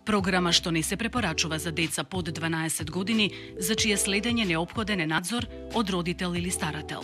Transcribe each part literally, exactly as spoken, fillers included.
Програма што не се препорачува за деца под дванаесет години, за чие следење неопходен е надзор од родител или старател.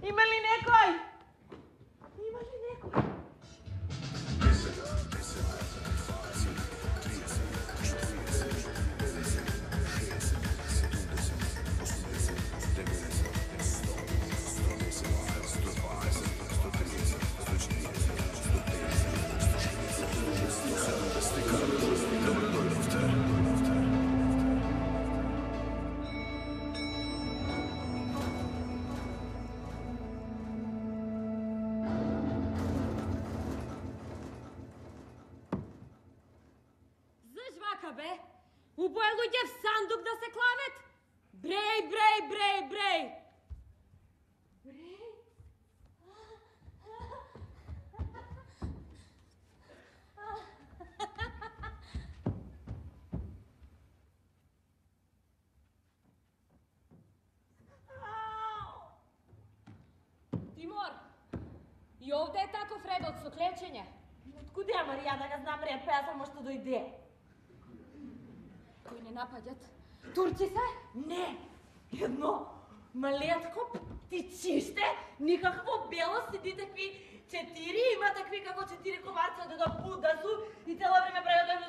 Има ли некој? Има ли некој? Бе, убоја луѓе в сандук да се клавет? Бреј, бреј, бреј, бреј! Бреј? Тимор, и овде е таков редот со клечење. Откуде ја Марија да не знам ред, па ја само што дојде. Кој не напаѓат? Турци се? Не! Едно малетко птичиште, никакво бело, сиди такви четири, има такви како четири комарца да да пудасу и цело време прават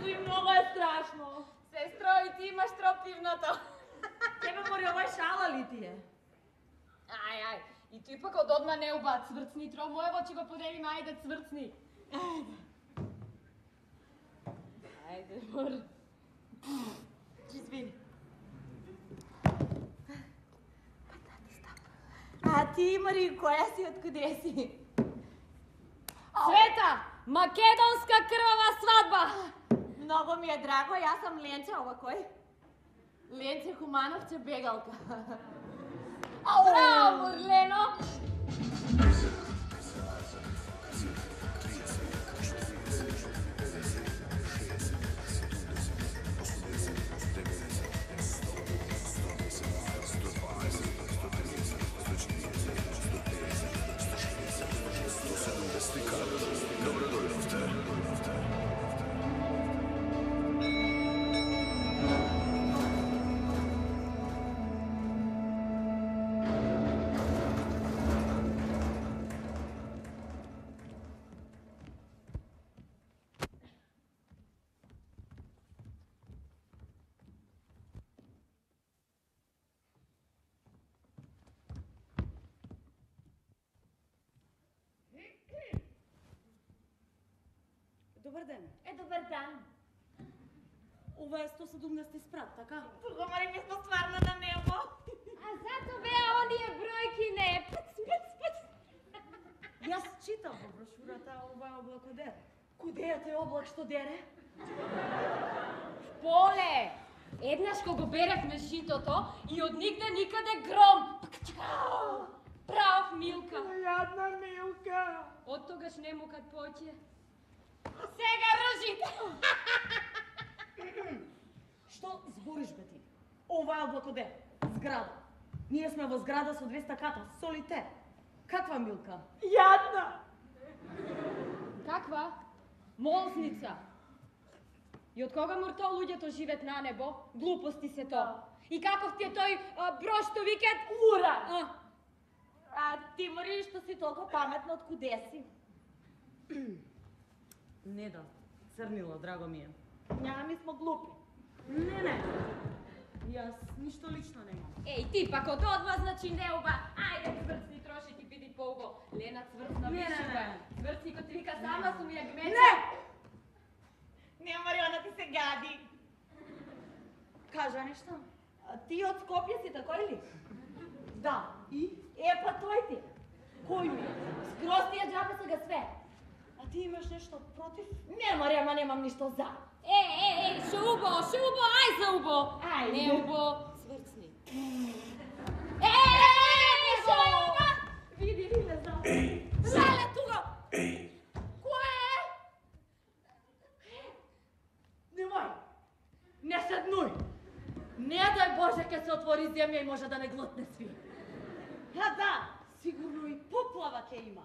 и многу е страшно. Сестро, и ти имаш тропивното. Тебе мори ова шала ли ти е? Ај, ај, и ти пак од одма не уба цврцни тро, моево ќе го поделиме, ајде цврцни. Ајде. Ајде, мор. Извини. Па тати стап. А ти, Мари, која си, откуде си? Света! Македонска крвава свадба! Много ми е драго, јас сам Ленче, ова кој? Ленче Хумановче бегалка. Браво, Лено! Добар ден. Е, добар Добар дан. Ова е сто седумдесети спрат, така? Тука мори ми сме стварно на небо. А зато беа оние бројки не. Пц, пц, пц. Јас читам во брошурата ова облако дере. Куде е тој облак што дере? Поле! Еднаш кога беревме житото и од нигде никаде гром. Прав Милка. Јадна Милка. Од тогаш не му кад поќе. Сега ржите! Што збориш, бе ти? Ова е облако дере. Зграда. Ние сме во зграда со двеста ката, солитер. Каква Милка? Јадна. Каква? Молзница. И од кога морто луѓето живеат на небо? Глупости се то. И каков ти е тој а, брош што викат? Ура. А, А ти мори што си толку паметна, од куде си? Не да, црнило, драго ми е. Няма ми смо глупи. Не, не. Јас ништо лично немам. еј, ти пак од одма, значи не оба. Ајде, цврцни троши ти биди поуго. Лена цврцна Не, не, више, не. бе. Цврцни кој ти вика сама сум ја гмеча. Не! Не, Мариона, ти се гади. Кажа нешто? А ти од Скопје си, тако или? Да. И? Е, па тој ти. Кој ми? Скроз ти ја џабе сега све. А ти имаш нешто против? Не, Маријама, немам ништо за. Е, е, е, шо убо, шо убо, ај за убо. Ајде. Не убо, цврцни. Е, е, е, шо е убо? Види ли, не знам. Леле, тука. Кој е? Немој. Не седнуј. Не дај Боже ке се отвори земја и може да не глотне сви. А да, сигурно и поплава ќе има.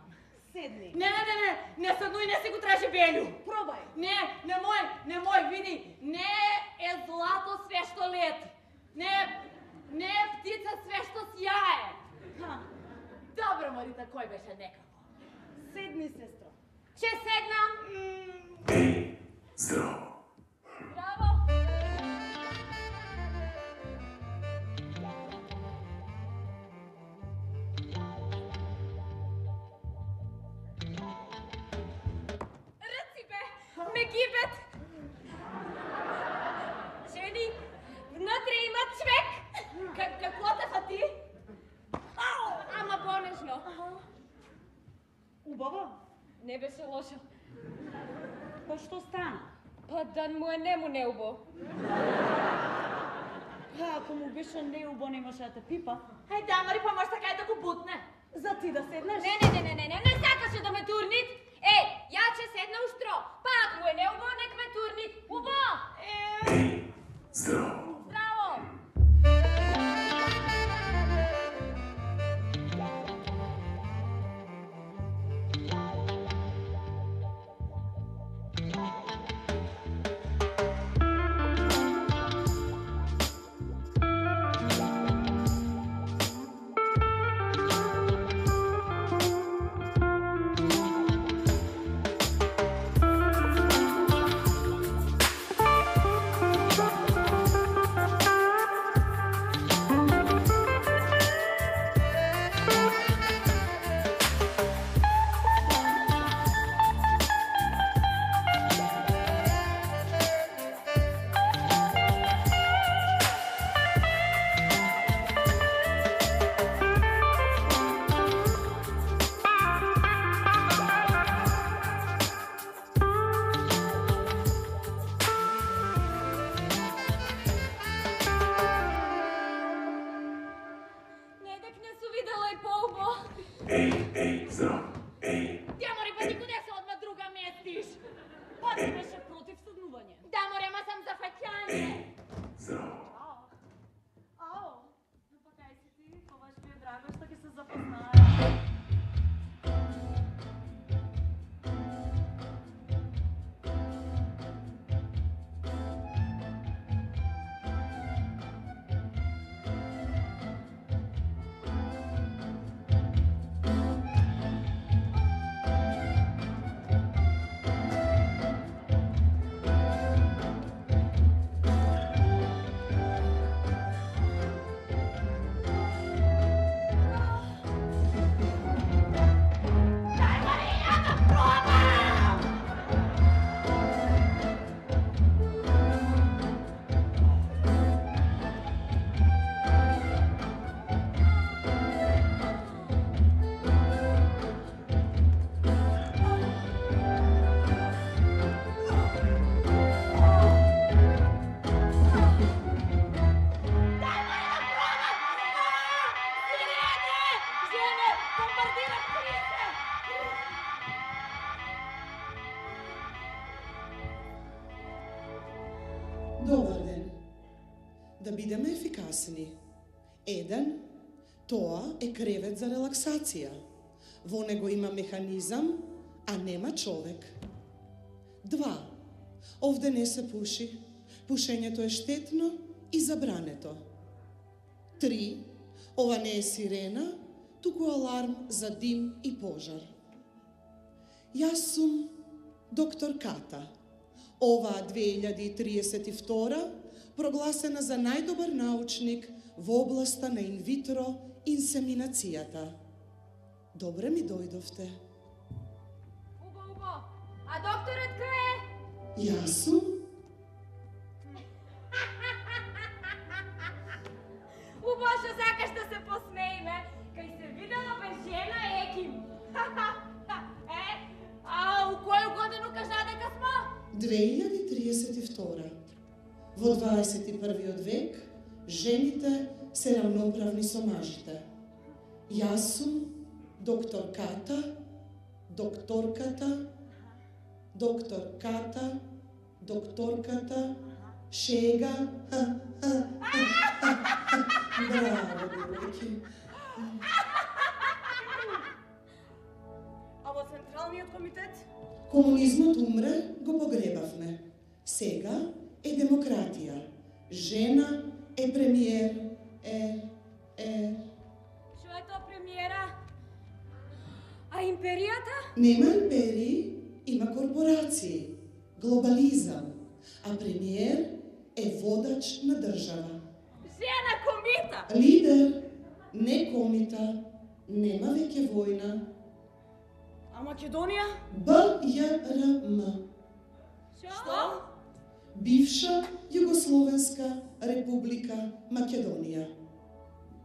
Седни. Не, не, не, не, не седнуј, не си го тражи Белю. Пробај. Не, немој, немој, види, не е злато све што лети. Не, не е птица све што сјае. Ха, Добро, Марита, кој беше некако. седни, сестро. Ќе седнам. Ей, здраво. Браво. Ръци бе, ме гибет. Жени, внатре има човек. Как, какво те фати? Ау, ама понежно. Убаво? Не беше лошо. Па што стана? Па да му е нему неубо. Па ако му беше неубо, немаше да те пипа. Ај да, Мари, па може така и да го бутне. За ти да седнеш? Не, не, не, не, не, не, не сакаше да ме турнит. Е, ја ќе седна устро. Па ако му е неубо, нек ме турнит. Убо! Ей, здраво. Здраво! Ей, ей, здраво. Ей, Тя мори, па никуде се одма друга местиш. Па ти беше против седнување. Да, море, ама сам за фаќање. ей, здраво. Ао, ну па кај си ти, побаш ми е драго што ќе се запознаеме. Добар ден. Да бидеме ефикасни. Еден, тоа е кревет за релаксација. Во него има механизам, а нема човек. Два, овде не се пуши. Пушењето е штетно и забрането. Три, ова не е сирена, туку аларм за дим и пожар. Јас сум доктор Ката. Оваа две илјади и триесет и втора прогласена за најдобар научник во областа на инвитро инсеминацијата. Добре ми дојдовте. Убо, убо. А докторот кој е? Јас сум. Убо, што сакаш да се посмеиме, кај се видела без жена еким. Е, а у која годину кажа дека смо? две илјади триесет и втора. Во дваесет и првиот век, жените се равноправни со мажите. Јас сум доктор Ката, докторката, доктор Ката, докторката, шега. Браво, девојки. А во Централниот комитет? Комунизмот умре, го погребавме. Сега е демократија. Жена е премиер, е, е... Што е тоа премиера? А империјата? Нема империи, има корпорации, глобализам, а премиер е водач на држава. Жена комита! Лидер, не комита, нема веќе војна. А Македонија? Б Ј Р М. Што? Бивша Југословенска република Македонија.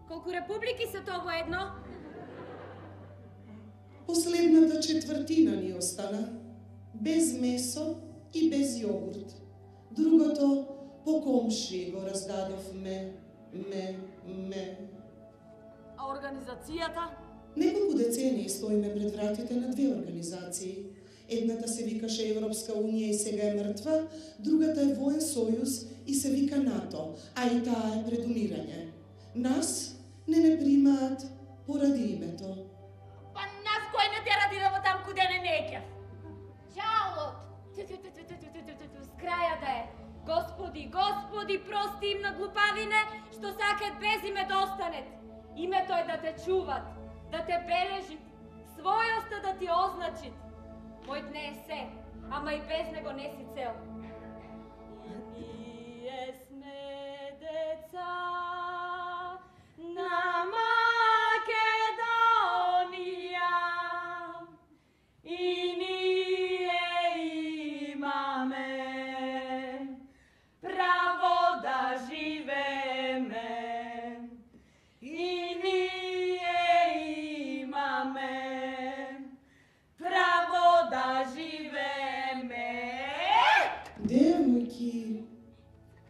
Колку републики се тоа воедно? Последната четвртина ни остана, без месо и без јогурт. Другото по комши го раздадовме, ме, ме. А организацијата? Неколку децении стоиме пред вратите на две организации. Едната се викаше Европска унија и сега е мртва, другата е Воен сојуз и се вика НАТО, а и таа е пред умирање. Нас не не примаат поради името. Па нас кој не тера да идемо там куде не неќев? Жалот! С краја да е. Господи, Господи, прости им на глупавине, што сакат без име да останет. Името е да те чуват, да те бележит, својоста да ти означит. Мојот не е се, ама и без него не си цел. Ние сме деца на Македонија и ние имаме право да живееме. И ние имаме право да живееме. Девојки,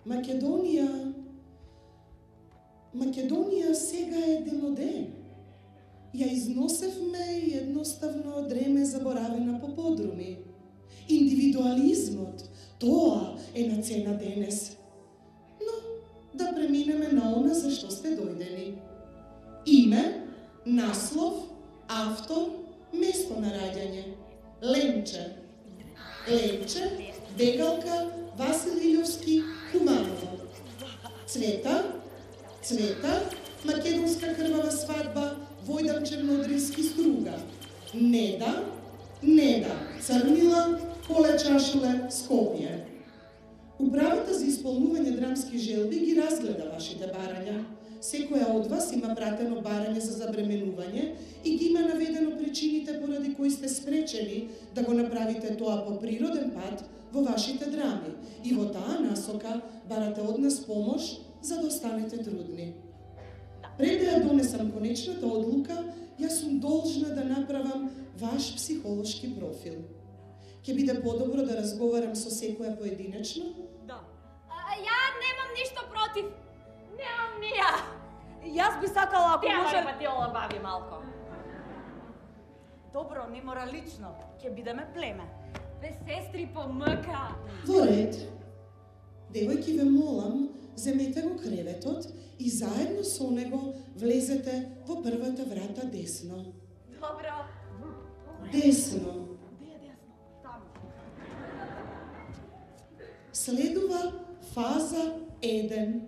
Македонија, Македонија сега е демоден. Ја износевме и едноставно дреме заборавена по подруми. Индивидуализмот, тоа е на цена денес. Но да преминеме на она за што сте дојдени. Име, наслов, автор, место на раѓање. Ленче. Ленче, Бегалка, Васил Илјовски, Куманово. Цвета, Цвета, Македонска крвава свадба, Војдан Чернодрински Струга. Неда, Неда, Црнила, Коле Чашуле, Скопје. Управата за исполнување драмски желби ги разгледа вашите барања. Секоја од вас има пратено барање за забременување и ги има наведено причините поради кои сте спречени да го направите тоа по природен пат во вашите драми и во таа насока барате од нас помош за да останете трудни. Пред да ја донесам конечната одлука, јас сум должна да направам ваш психолошки профил. Ќе биде подобро да разговарам со секоја поединечно? Да. А, ја немам ништо против. Немам ни ја. Јас би сакала ако Тя може... па ти олабави малко. Добро, не мора лично. Ќе бидеме племе. Бе сестри по мъка. Во ред. Девојки, ве молам, земете го креветот и заедно со него влезете во првата врата десно. Добро. Десно. Де е десно? Таму. Следува фаза еден.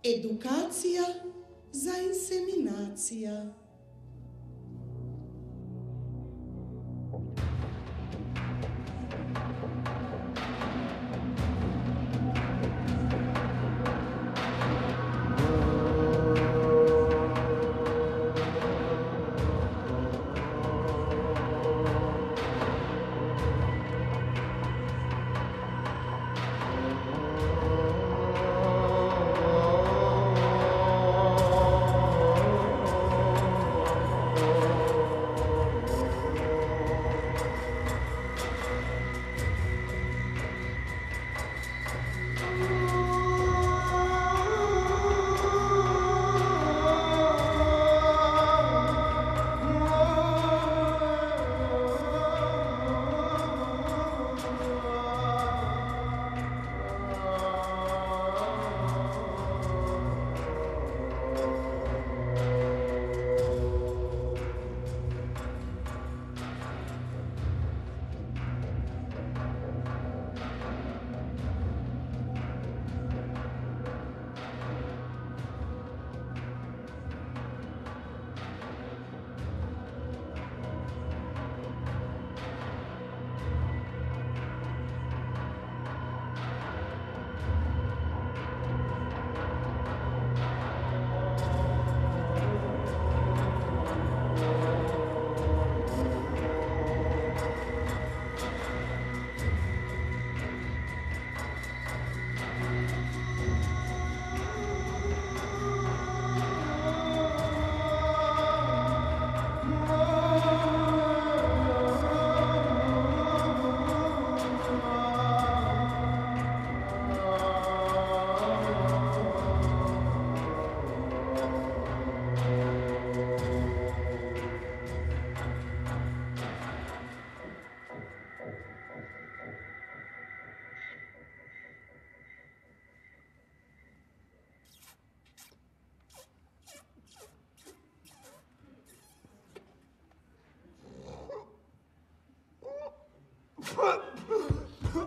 Едукација за инсеминација.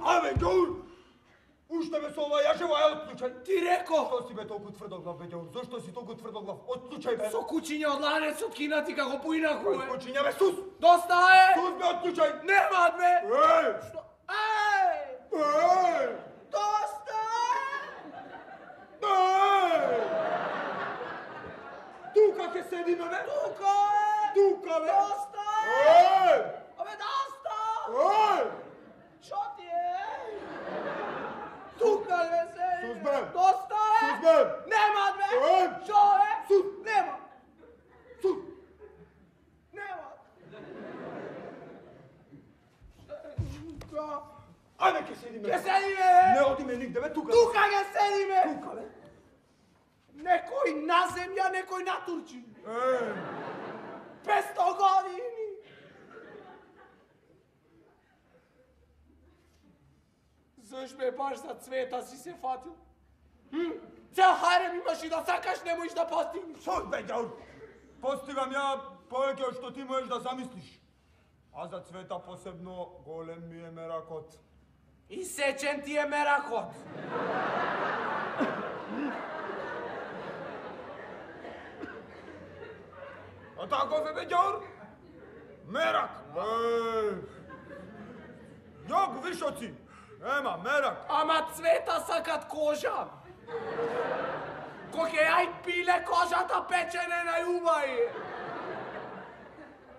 Абе, Ѓур! Уште ме со ова јажева е отклучен. Ти реко! Што си бе толку тврдоглав, бе, Ѓур? Зошто си толку тврдоглав? Отклучај бе! Со кучиња од ланецот кинати како поинаху е. Кучиња бе, сус! Доста е! Сус бе, отклучај! Немаат бе! Еј! Што? Еј! Еј! Доста е! Еј! Тука ке седиме бе! Тука е! Тука бе! Доста е! Еј! Абе, доста! Еј! Шо ти е? Тука бе се! Сус бе! Доста е! Сус бе! Немаат бе! Еј! Шо е? Сус! Нема! Сус! Немаат! Ајде ке седиме! Ке седиме бе! Не одиме нигде бе, тука! Тука ке седиме! Тука бе! Некој на земја, некој на Турчин. Еј! петсто години. Заш ме баш за цвета си се фатил? Hm? Цел харем имаш и да сакаш, не можеш да постигнеш. Шо бе, Ѓур? Постигам ја повеќе од што ти можеш да замислиш. А за цвета посебно голем ми е меракот. И сечен ти е меракот. А тако бе, Ѓур? Мерак! Еј! Јок вишоци! Ема, мерак! Ама цвета сакат кожа. Кој ај пиле кожата печене на јубај.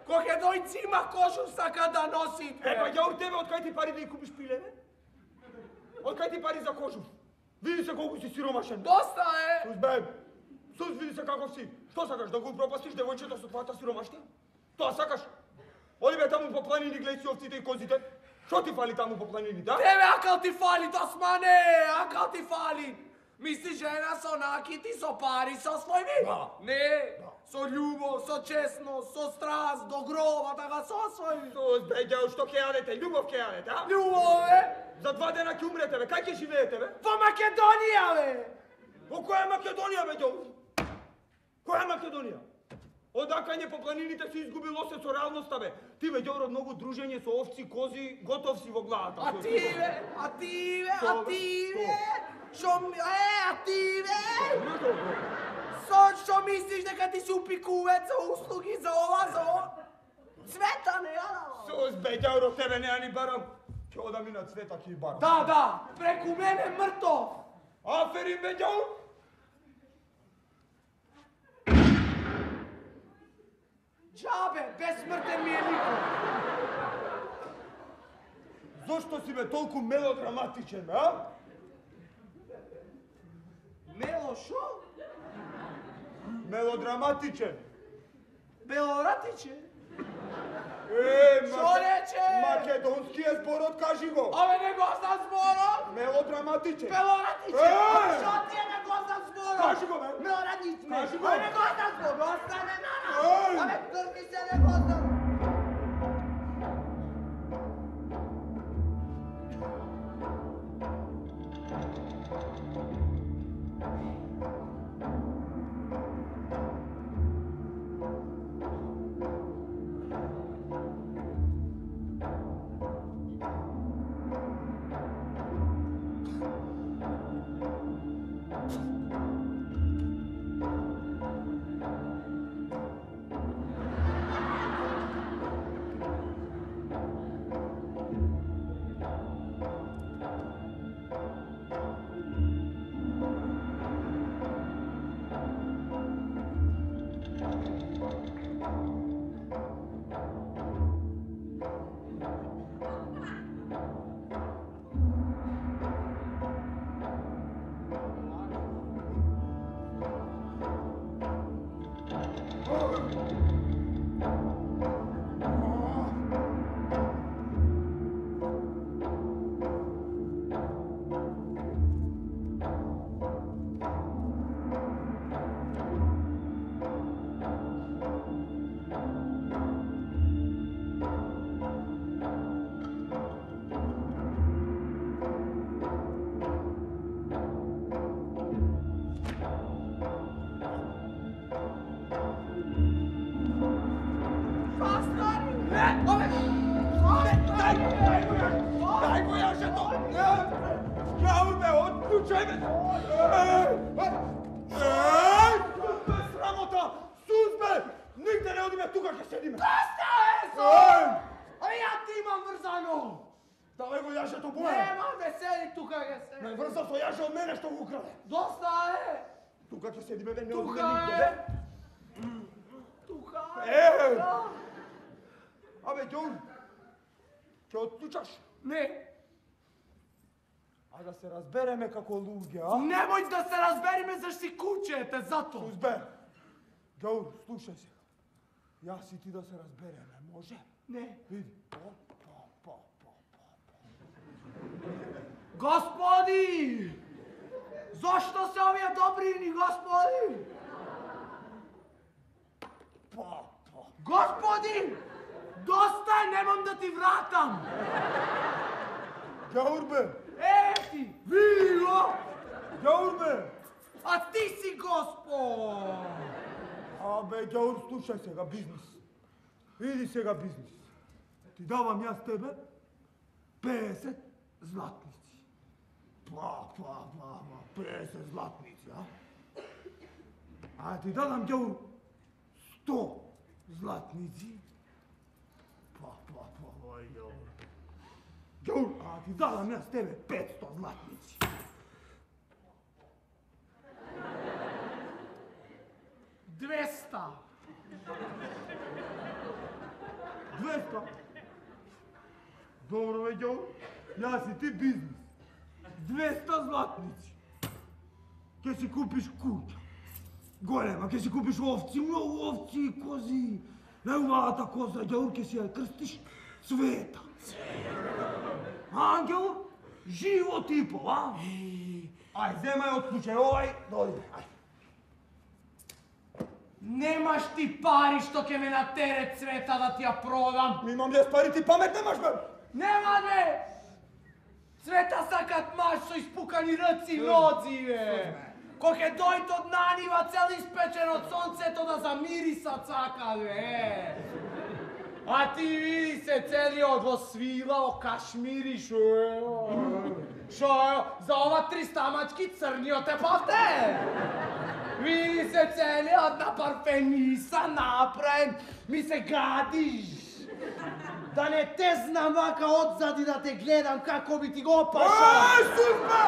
Кој дој цима кожу сака да носи. Епа, Ѓур, тебе од кај ти пари да ја купиш пиле, бе? Од кај ти пари за кожу? Види се колку си сиромашен. Доста е. Сус, бе! Сус, види се каков си. Што сакаш, да го пропастиш девојчето со твојата сиромаштија? Тоа сакаш? Оди бе таму по планини, гледај си овците и козите. Што ти фали таму по планините, а? Тебе акал ти фали, Досмане, акал ти фали. Мисли жена со накити, со пари, со својми? Да. Не, со љубов, со честност, со страст, до гроба, така со својми. Сос бе, ѓао, што ќе јадете? Љубов ќе јадете, а? Љубов, бе? За два дена ќе умрете, бе. Кај ќе живеете, бе? Во Македонија, бе! Во која Македонија, бе, ѓао? Која Македонија? Одакање по планините си изгубило се со реалноста, бе. Ти, бе, ѓао, многу дружење со овци, кози, готов си во главата. А ти, бе? А ти, бе? А ти, бе? Шо ми... Е, а ти, бе? Со што мислиш дека ти си упикувец за услуги, за ова, за ова? Цвета не ја дава. Сос бе, ѓао, тебе не ја ни барам. Ќе одам и на Цвета ќе и барам. Да, да, преку мене мртов. Аферин, бе, ѓао. Джабе, безсмртен ми е никој. Зошто си, бе, толку мелодраматичен, бе, а? Мело шо? Мелодраматичен. Белоратиче? Е, Шо рече? македонскиот зборот, кажи го. Абе, не го знам зборот. Мелодраматичен. Белоратиче? Е! Шо ти е не го знам зборот? Кажи го, бе. Белоратиче. Кажи го. Абе, не го знам зборот. Остане на нас. Еј! Абе, трни се, не го знам. Дај го јажето! Ѓао, бе, отклучај, бе! Еј! Бе, срамота! Сузбе! Нигде не одиме, тука ќе седиме! Доста е, со! Абе, ја ти имам врзано! Давај го јажето, боја! Нема да седи тука, ќе седи. Не врза со јаже од мене што го украде! Доста е! Тука ќе седиме, бе, не Тука одиме нигде, е! бе! Тука е! Е! Абе, Ѓон, ќе отклучаш? Не! А да се разбереме како луѓе, а? Немој да се разбериме зашто си кучете, зато! Сузбе! Ѓон, слушај се. Јас и ти да се разбереме, може? Не. Види. Па, па, па, па, па. Господи! Зошто се овие добрини, господи? Па, па. Господи! Доста е, немам да ти вратам! Ѓаурбе! Е, ти! Види го! Ѓаурбе! А ти си Господ! Абе, Ѓаур, слушај сега бизнис. Види сега бизнис. Ти давам јас тебе педесет златници. Па, па, па, па, педесет златници, а? А ти дадам, Ѓаур, сто златници. Па, па, па, па, Ѓаур. Ѓаур, а ти дадам јас тебе петсто златници. Двеста! Двеста? Добро, бе, Ѓаур. Јас и ти бизнис. Двеста златници. Ке си купиш куќа. Голема, ке си купиш овци, многу овци, кози. Најубавата коза, Ѓаур, ке си ја крстиш Цвета. Ангел, живо типо, а? Еј, Ај, земај од случај, овај, дојде, ај. Немаш ти пари што ќе ме натере Цвета да ти ја продам. Имам јас пари, ти памет немаш, бе. Нема, бе! Цвета сакат маж со испукани ръци и нози, бе! Кој ќе дојде од нанива цел испечен од сонцето да замирисат сака, бе! А ти види се целиот во свила, кашмири, шо е? Шо е? За ова три стамачки црниот е павте! Види се целиот на парфениса направен, ми се гадиш! Да не те знам вака одзади да те гледам како би ти го паша! Ај, сузбе!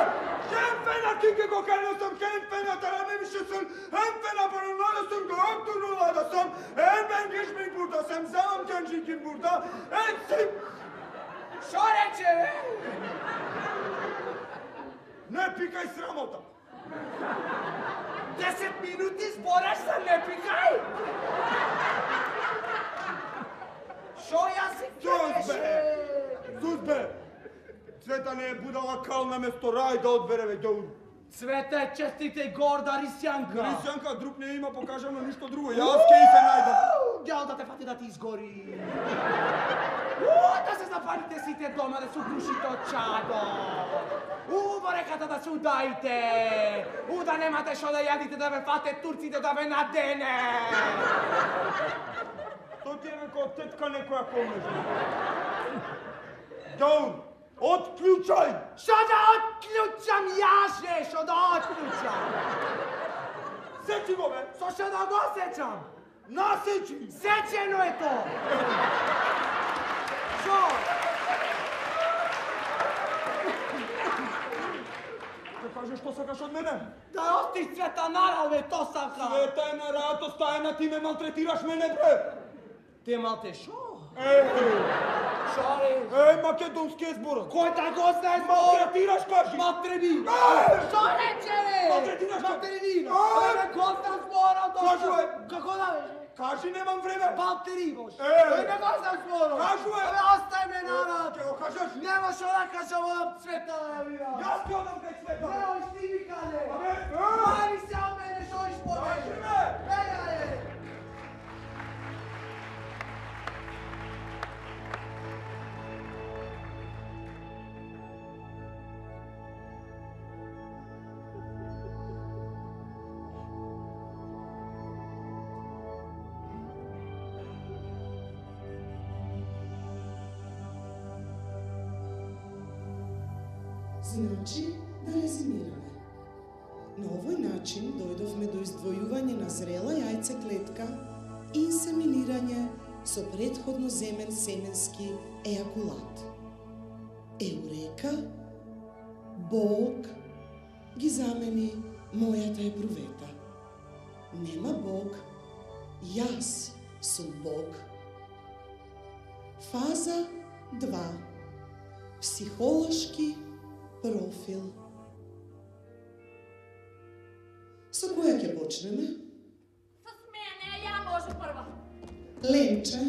Хемфена кике го кајна сам, хемфена тараме више сам, хемфена параноја сам, доктор нулада сам, ембен гишмин бурда сам, замам кенжикин бурда, ен сим! Шо рече, бе? Не пикај срамота! Десет минути збораш за не пикај! Шо јас си Сузбе! Сузбе! Цвета не е будала кал на место рај да одбере веќе да уди. Цвета е честита и горда рисјанка. Рисјанка, друг не има, покажано ништо друго. Јас ке и се најдам. Гел да те фати да ти изгори. Уу, да се запалите сите дома, да се укрушите од чадо. У, во реката да се удаите. У, да немате шо да јадите, да ве фате турците, да ве надене. То ти е како тетка некоја комнежа. Доун, отклучај! Шо да отклучам јас, бе, шо да отклучам? Сечи го, бе! Со шо да го сечам? Насечи! Сечено е то! Шо? Ке кажеш што сакаш од мене? Да остиш Цвета нарал, бе, то сака! Цвета е на рато стајна, ти ме малтретираш мене, бре! Те малте шо? Е, Шо ли? е, македонски е зборот. Кој да го знае зборот? Малтретираш, кажи! Матреби! Е! Шо рече, бе? Малтретираш, кажи! Материнина! Е! Еве го знам зборот! Кажи, бе! Како да бе? Кажи, немам време! Балтери, бош! Е! Еве го знам зборот! Кажи, бе! Еве остај ме народ! Ке го кажеш? Нема шо да кажам од Цвета, да видам! Јас ќе одам кај Цвета! Не, ош ти ми каде! Абе, е! Мари се од мене, шо иш по Кажи, мене! бе! Еј, аје! Значи, да резимираме. На овој начин дојдовме до издвојување на зрела јајцеклетка и инсеминирање со претходно земен семенски ејакулат. Еурека, Бог ги замени мојата епрувета. Нема Бог, јас сум Бог. Фаза два. Психолошки профил. Со која ќе почнеме? С мене, ја може прва. Ленче,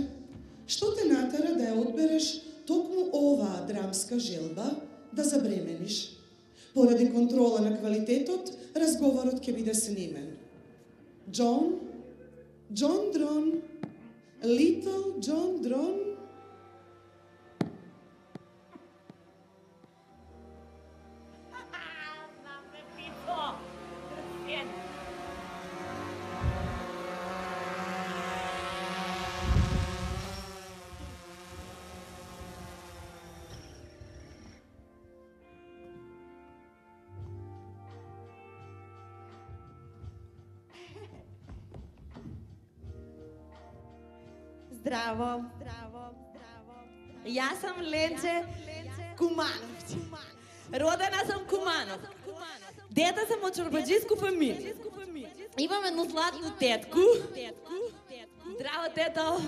што те натера да ја одбереш токму оваа драмска желба да забремениш? Поради контрола на квалитетот, разговорот ќе биде снимен. Џон, Џон Дрон, Little Џон Дрон. Здраво. Здраво. Јас сам Ленче Кумановиќ. Родена сам Куманов. Дете сам од чорбаџиску фамилија. Имам едну златну тетку. Здраво, тето.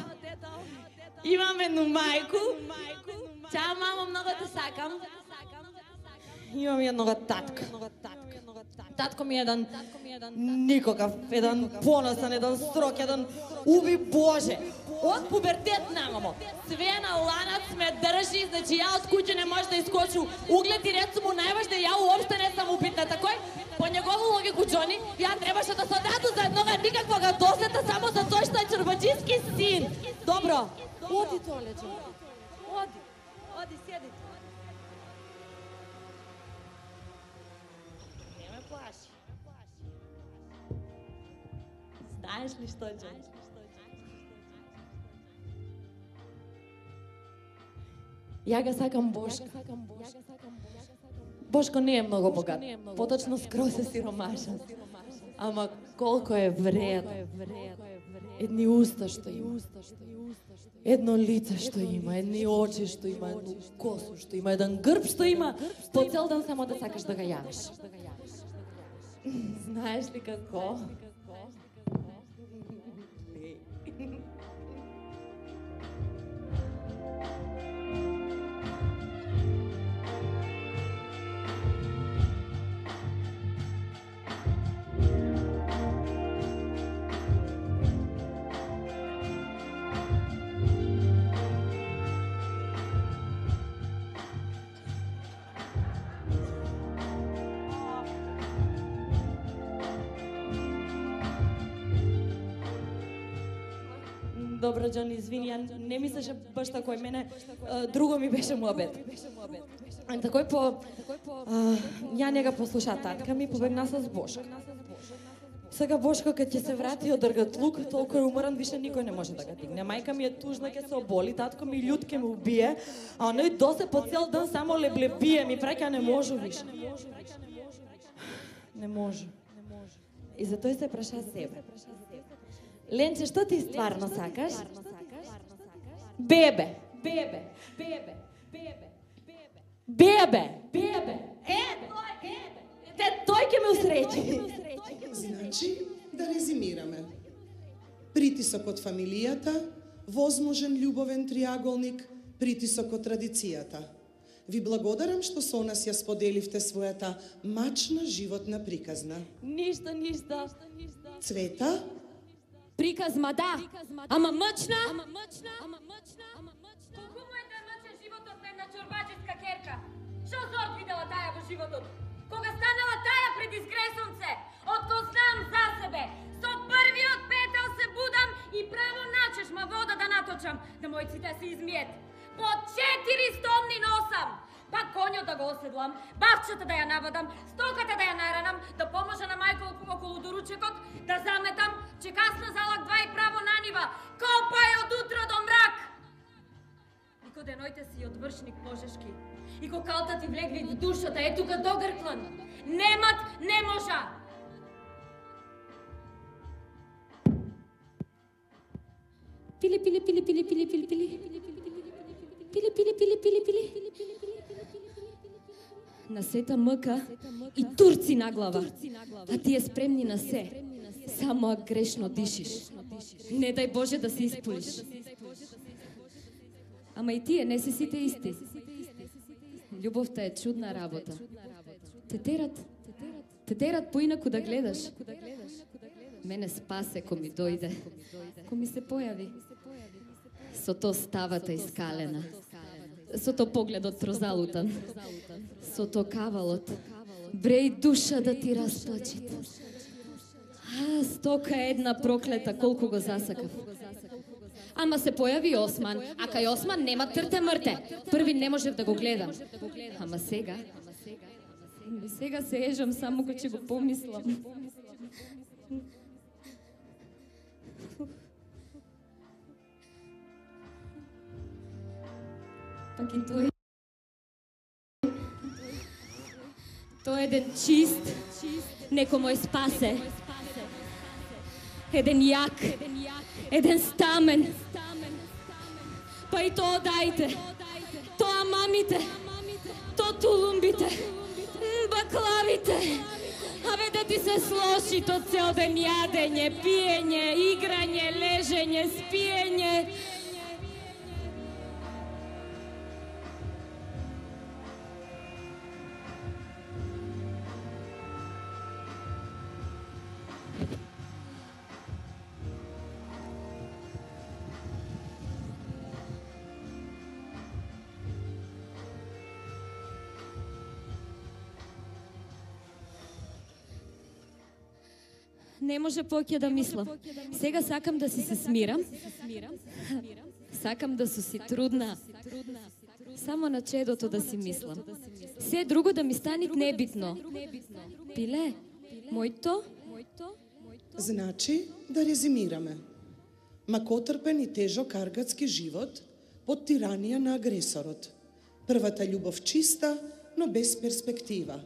Имам едну мајку. Чао, мамо, многу те сакам. Имам еднога татка. Татко ми е еден никакав, еден поносен, еден строг, еден уби Боже. Од пубертет намамо. Све на ланац ме држи, значи ја од куќе не може да искочу. Углед и ред сум му најважна, ја уопште не сам упитна, такој Џони, ја требаше да се одату за еднога никаквога досета само за тој што е чорбаџиски син. Добро, оди толе, Џони. Оди, оди, седи. Не ме плаши. Знаеш ли што, Џони? Ја ga сакам Бошка. Бошко не е многу богат, поточно скроз е сиромашен. Ама колко е вреден. Едни уста што има. Едно лице што има, едни очи што има, едно косу што има, еден грб што има, по цел ден само да сакаш да га јавиш. Знаеш ли како? Добро, Џони, извини, ја не мислеше баш тако, мене друго ми беше муабет. Такој по... Ја не га послуша татка ми, побегна со Бошко. Сега Бошко кога ќе се врати од Ргатлук, толку е уморан, више никој не може да го дигне. Мајка ми е тужна, ќе се оболи, татко ми љут ќе ме убие, а оној досе по цел ден само леблебие, ми праќа не можу више. Не може. И затоа се праша себе. Ленче, што ти стварно сакаш? Бебе. Бебе. Бебе. Бебе. Бебе. Бебе. Е, те тој ќе ме усреќи. Значи, да резимираме. Притисок од фамилијата, возможен љубовен триаголник, притисок од традицијата. Ви благодарам што со нас ја споделивте својата мачна животна приказна. Ништо, ништо. Цвета? Приказма, да. Ама мъчна? Колку му е да мъчен животот на една чорбаџиска керка? Шо зорт видела таја во животот? Кога станала таја пред изгресонце, отко знам за себе, со првиот петел се будам и право начешма вода да наточам, да мојците се измиет. По четири стомни носам, па конјот да го оседлам, бавчата да ја навадам, стоката да ја наранам, да поможа на мајка околу доручекот, да заметам, че касна залак два и право на нива, копај од утро до мрак. И ко денојте си одвршник пожешки, и ко калта ти влегли в душата, е тука до грклан, немат не можа. Пили, пили, пили, пили, пили, пили, пили. Пили, пили, пили, пили, пили. На сета мъка и турци на глава, а ти е спремни на се. Само грешно дишиш. Не дай Боже да се изполиш. Ама и тие не си сите исти. Љубовта е чудна работа. Те терат, те терат поинаку да гледаш. Мене спасе ко ми дојде, ко ми се појави. Со то ставата искалена, со то погледот прозалутан, со то кавалот, бреј душа да ти расплачит. А, стока една проклета, колку го засакав. Ама се појави Осман, а кај Осман нема трте мрте. Први не можев да го гледам. Ама сега, сега се ежам само кога ќе го помислам. Пак и тој. Тој е еден чист, неко мој спасе. Еден јак, еден стамен. Па и тоа дајте, тоа мамите, тоа тулумбите, баклавите. Абе да ти се слоши то цел ден јадење, пиење, играње, лежење, спиење. Не може поќе да мислам. Сега сакам да си се смирам. Сакам да су си трудна. Само на чедото да си мислам. Се друго да ми стане небитно. Пиле, мојто? Значи, да резимираме. Макотрпен и тежок аргатски живот под тиранија на агресорот. Првата љубов чиста, но без перспектива.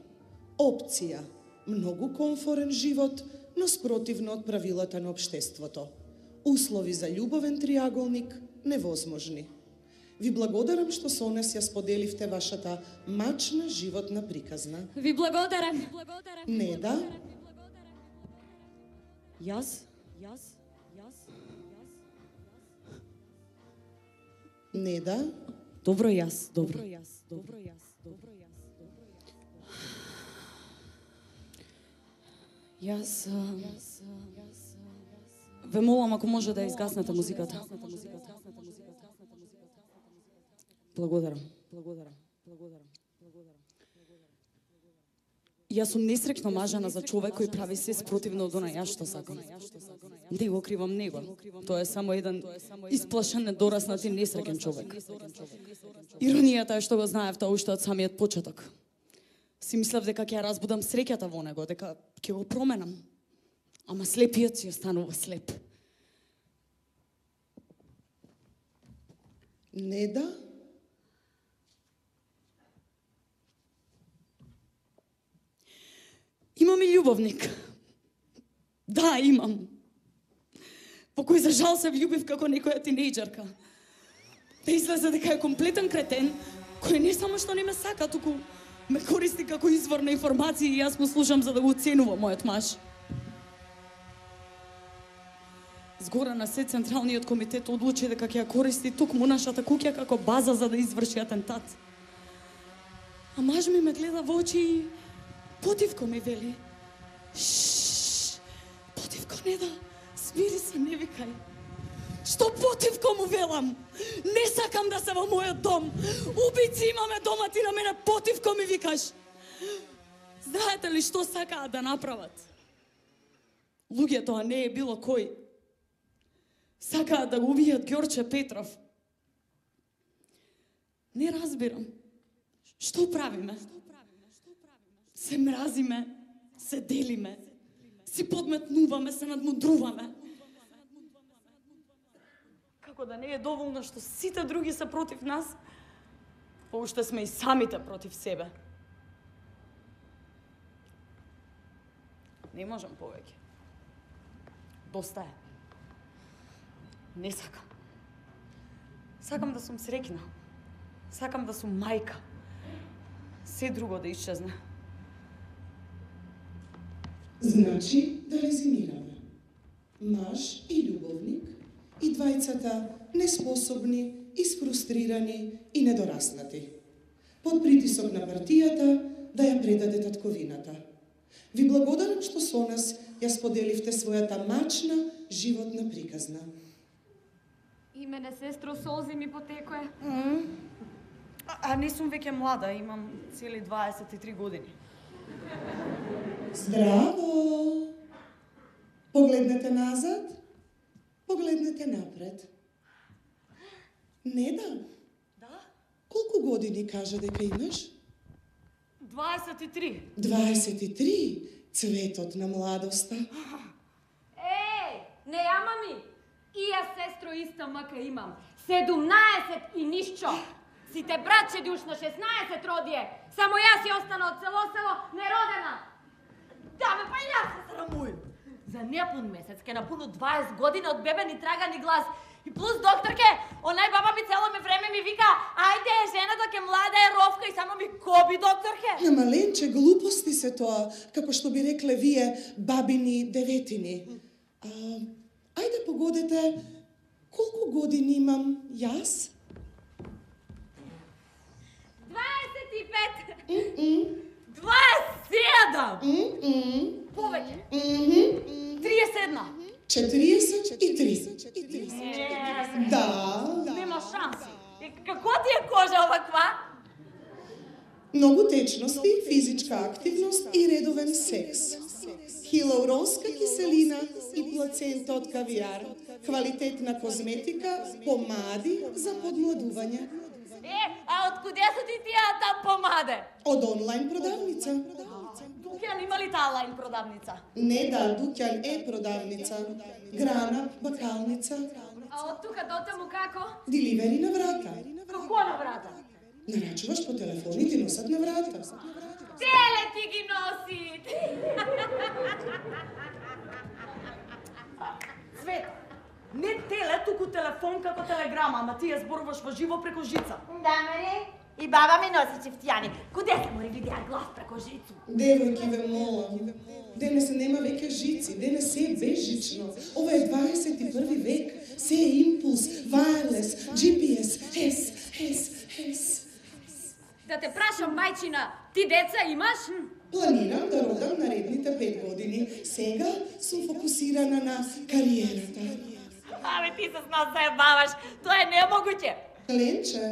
Опција, многу комфорен живот, но спротивно од правилата на општеството. Услови за љубовен триаголник невозможни. Ви благодарам што со нас ја споделивте вашата мачна животна приказна. Ви благодарам. Неда? Јас? Јас? Неда? Добро јас, добро. Добро јас, добро јас. Јас ве молам ако може да изгаснете музиката. Благодарам. Благодарам. Благодарам. Јас сум несреќно мажена за човек кој прави се спротивно од она јас што сакам. Не го кривам него. Тоа е само еден исплашен, недораснат и несреќен човек. Иронијата е што го знаев тоа уште од самиот почеток. Си мислев дека ќе ја разбудам среќата во него, дека ќе го променам. Ама слепиот си останува слеп. Неда? Имам и љубовник. Да, имам. По кој за жал се влюбив како некоја тинејџерка. Да излезе дека е комплетен кретен, кој не само што не ме сака, туку ме користи како извор на информации и јас му слушам за да го оценува мојот маж. Згора на се Централниот комитет одлучи дека ќе ја користи токму нашата куќа како база за да изврши атентат. А маж ми ме гледа во очи и потивко ми вели. Шшш, потивко не да, смири се, не викај. Што потивко му велам? Не сакам да се во мојот дом. Убици имаме дома, ти на мене потивко ми викаш. Знаете ли што сакаат да направат? Луѓето, а не е било кој. Сакаат да го убијат Ѓорче Петров. Не разбирам. Што правиме? Се мразиме, се делиме, си подметнуваме, се надмудруваме. Како да не е доволно што сите други се против нас, поуште сме и самите против себе. Не можам повеќе. Доста е. Не сакам. Сакам да сум среќна. Сакам да сум мајка. Се друго да исчезне. Значи, да резимираме. Маж и љубовник, и двајцата неспособни, isfrustrirani и недораснати. Под притисок на партијата да ја предаде татковината. Ви благодарам што со нас ја споделивте својата мачна животна приказна. И мене, сестро, солзи ми потекоe. Mm. А, а не сум веќе млада, имам цели дваесет и три години. Здраво! Погледнете назад, погледнете напред. Неда? Да? Колку години кажа дека имаш? дваесет и три. дваесет и три? Цветот на младоста. Еј, не јама ми. И јас, сестро, иста мака имам. седумнаесет и нишчо. Сите братче душ на шеснаесет родие. Само јас ја остана од село-село неродена. Да, ме, па јас се срамујам. За непун месец ке напуну дваесет години од бебе ни трага ни глас. И плюс докторке, онај баба ми цело ме време ми вика, ајде, жената ке млада е ровка и само ми коби, докторке. На маленче, глупости се тоа, како што би рекле вие, бабини деветини. А, ајде погодете, колку години имам јас? дваесет и пет. Mm-mm. дваесет и седам. Mm-mm. Повеќе. Mm-hmm. триесет и една. четириесет и три. Не, Да. нема шанси. И како ти е кожа оваква? Многу течности, физичка активност и редовен секс. хилауронска киселина и плацента од кавиар, квалитетна козметика, помади за подмладување. Е, а од куде се ти тие там помаде? Од онлайн продавница. Дуќан има ли таа онлайн продавница? Не да, дуќан е продавница. Грана, бакалница. А од тука до таму како? Деливери на врата. Како на врата? Нарачуваш по телефон и ти носат на врата. Теле ти ги носи! Цвет, не теле, туку телефон како телеграма, ама ти ја зборуваш во живо преку жица. Да, Мари? И баба ми носи чифтијани. Куде се мори видеа глас преку жицу? Девојки, ве молам. Денес нема веќе жици, денес се е безжично. Ова е дваесет и први век. Се е импулс, wireless, Джи Пи Ес, ес, ес, ес. Да те прашам, мајчина, ти деца имаш? Планирам да родам наредните пет години. Сега сум фокусирана на кариерата. Абе, ти се с нас заебаваш. Тоа е немогуќе. Ленче,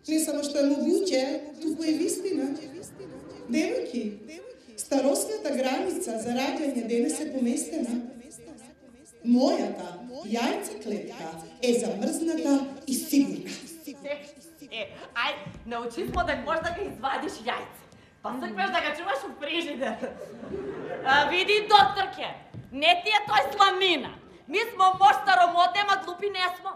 не само што е могуќе, туку е вистина. Девојки, старосната граница за раѓање денес е поместена. Мојата јајцеклетка е замрзната и сигурна. Е, ај, научи смо да можеш да ga извадиш јајце. Па сакаш да ga чуваш у фрижидер. А, види, докторке, не ти е тој сламина. Ми смо мош старомоте, ма глупи не смо.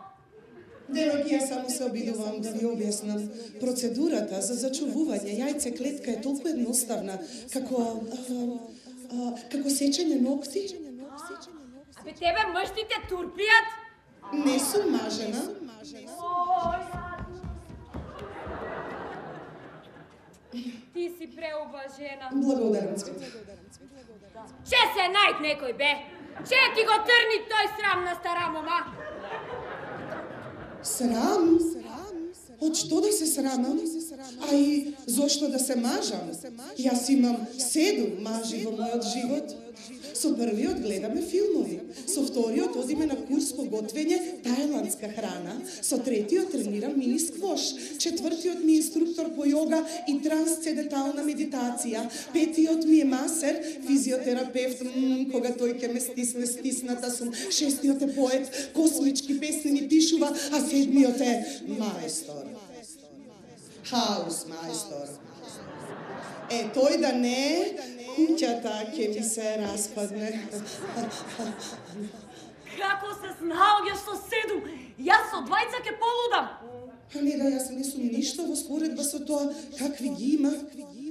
Девојки, јас само се обидувам да ви објаснам. Процедурата за зачувување јајцеклетка е толку едноставна, како а, а, како сечење ногти. Абе, тебе мъжтите турпијат? Не сум мажена. Ти си преуважена. Благодарам, Цвета. Че се најд некој, бе? Че ти го трни тој срам на стара мома? Срам? Од што да се срамам? А и зошто да се мажам? Јас имам седум мажи во мојот живот. Со првиот гледаме филмови, со вториот одиме на курс по готвење тајландска храна, со третиот тренирам мини сквош, четвртиот ми е инструктор по јога и трансцендентална медитација, петиот ми е масер, физиотерапевт, м, кога тој ќе ме стисне стисната сум, шестиот е поет, космички песни ми пишува, а седмиот е маестор. Хаус маестор. Е, тој да не, куќата ќе ми се распадне. Како се снаоѓаш со седум? Јас со двајца ќе полудам. А не да, јас не сум ништо во споредба со тоа какви ги има.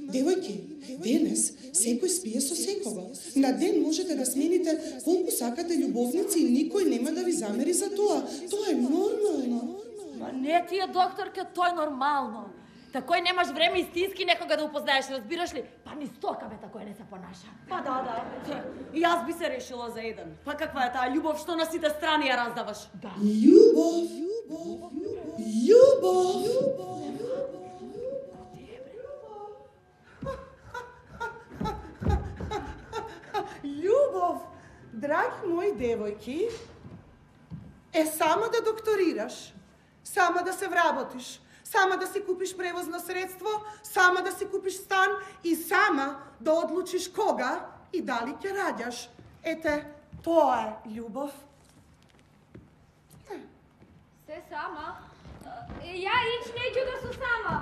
Девојки, денес секој спие со секого. На ден можете да смените колку сакате љубовници и никој нема да ви замери за тоа. Тоа е нормално. Ма не ти е, докторка, тоа е нормално. Такој немаш време истински некога да упознаеш, разбираш ли? Па ни стока бе такој не се понаша. Па да, да. И јас би се решила за еден. Па каква е таа љубов што на сите страни ја раздаваш? Да. Љубов, љубов, Љубов, драги мои девојки, е само да докторираш, само да се вработиш, сама да си купиш превозно средство, сама да си купиш стан и сама да одлучиш кога и дали ќе раѓаш. Ете, тоа е љубов. Се сама? Ја ич неќу да су сама.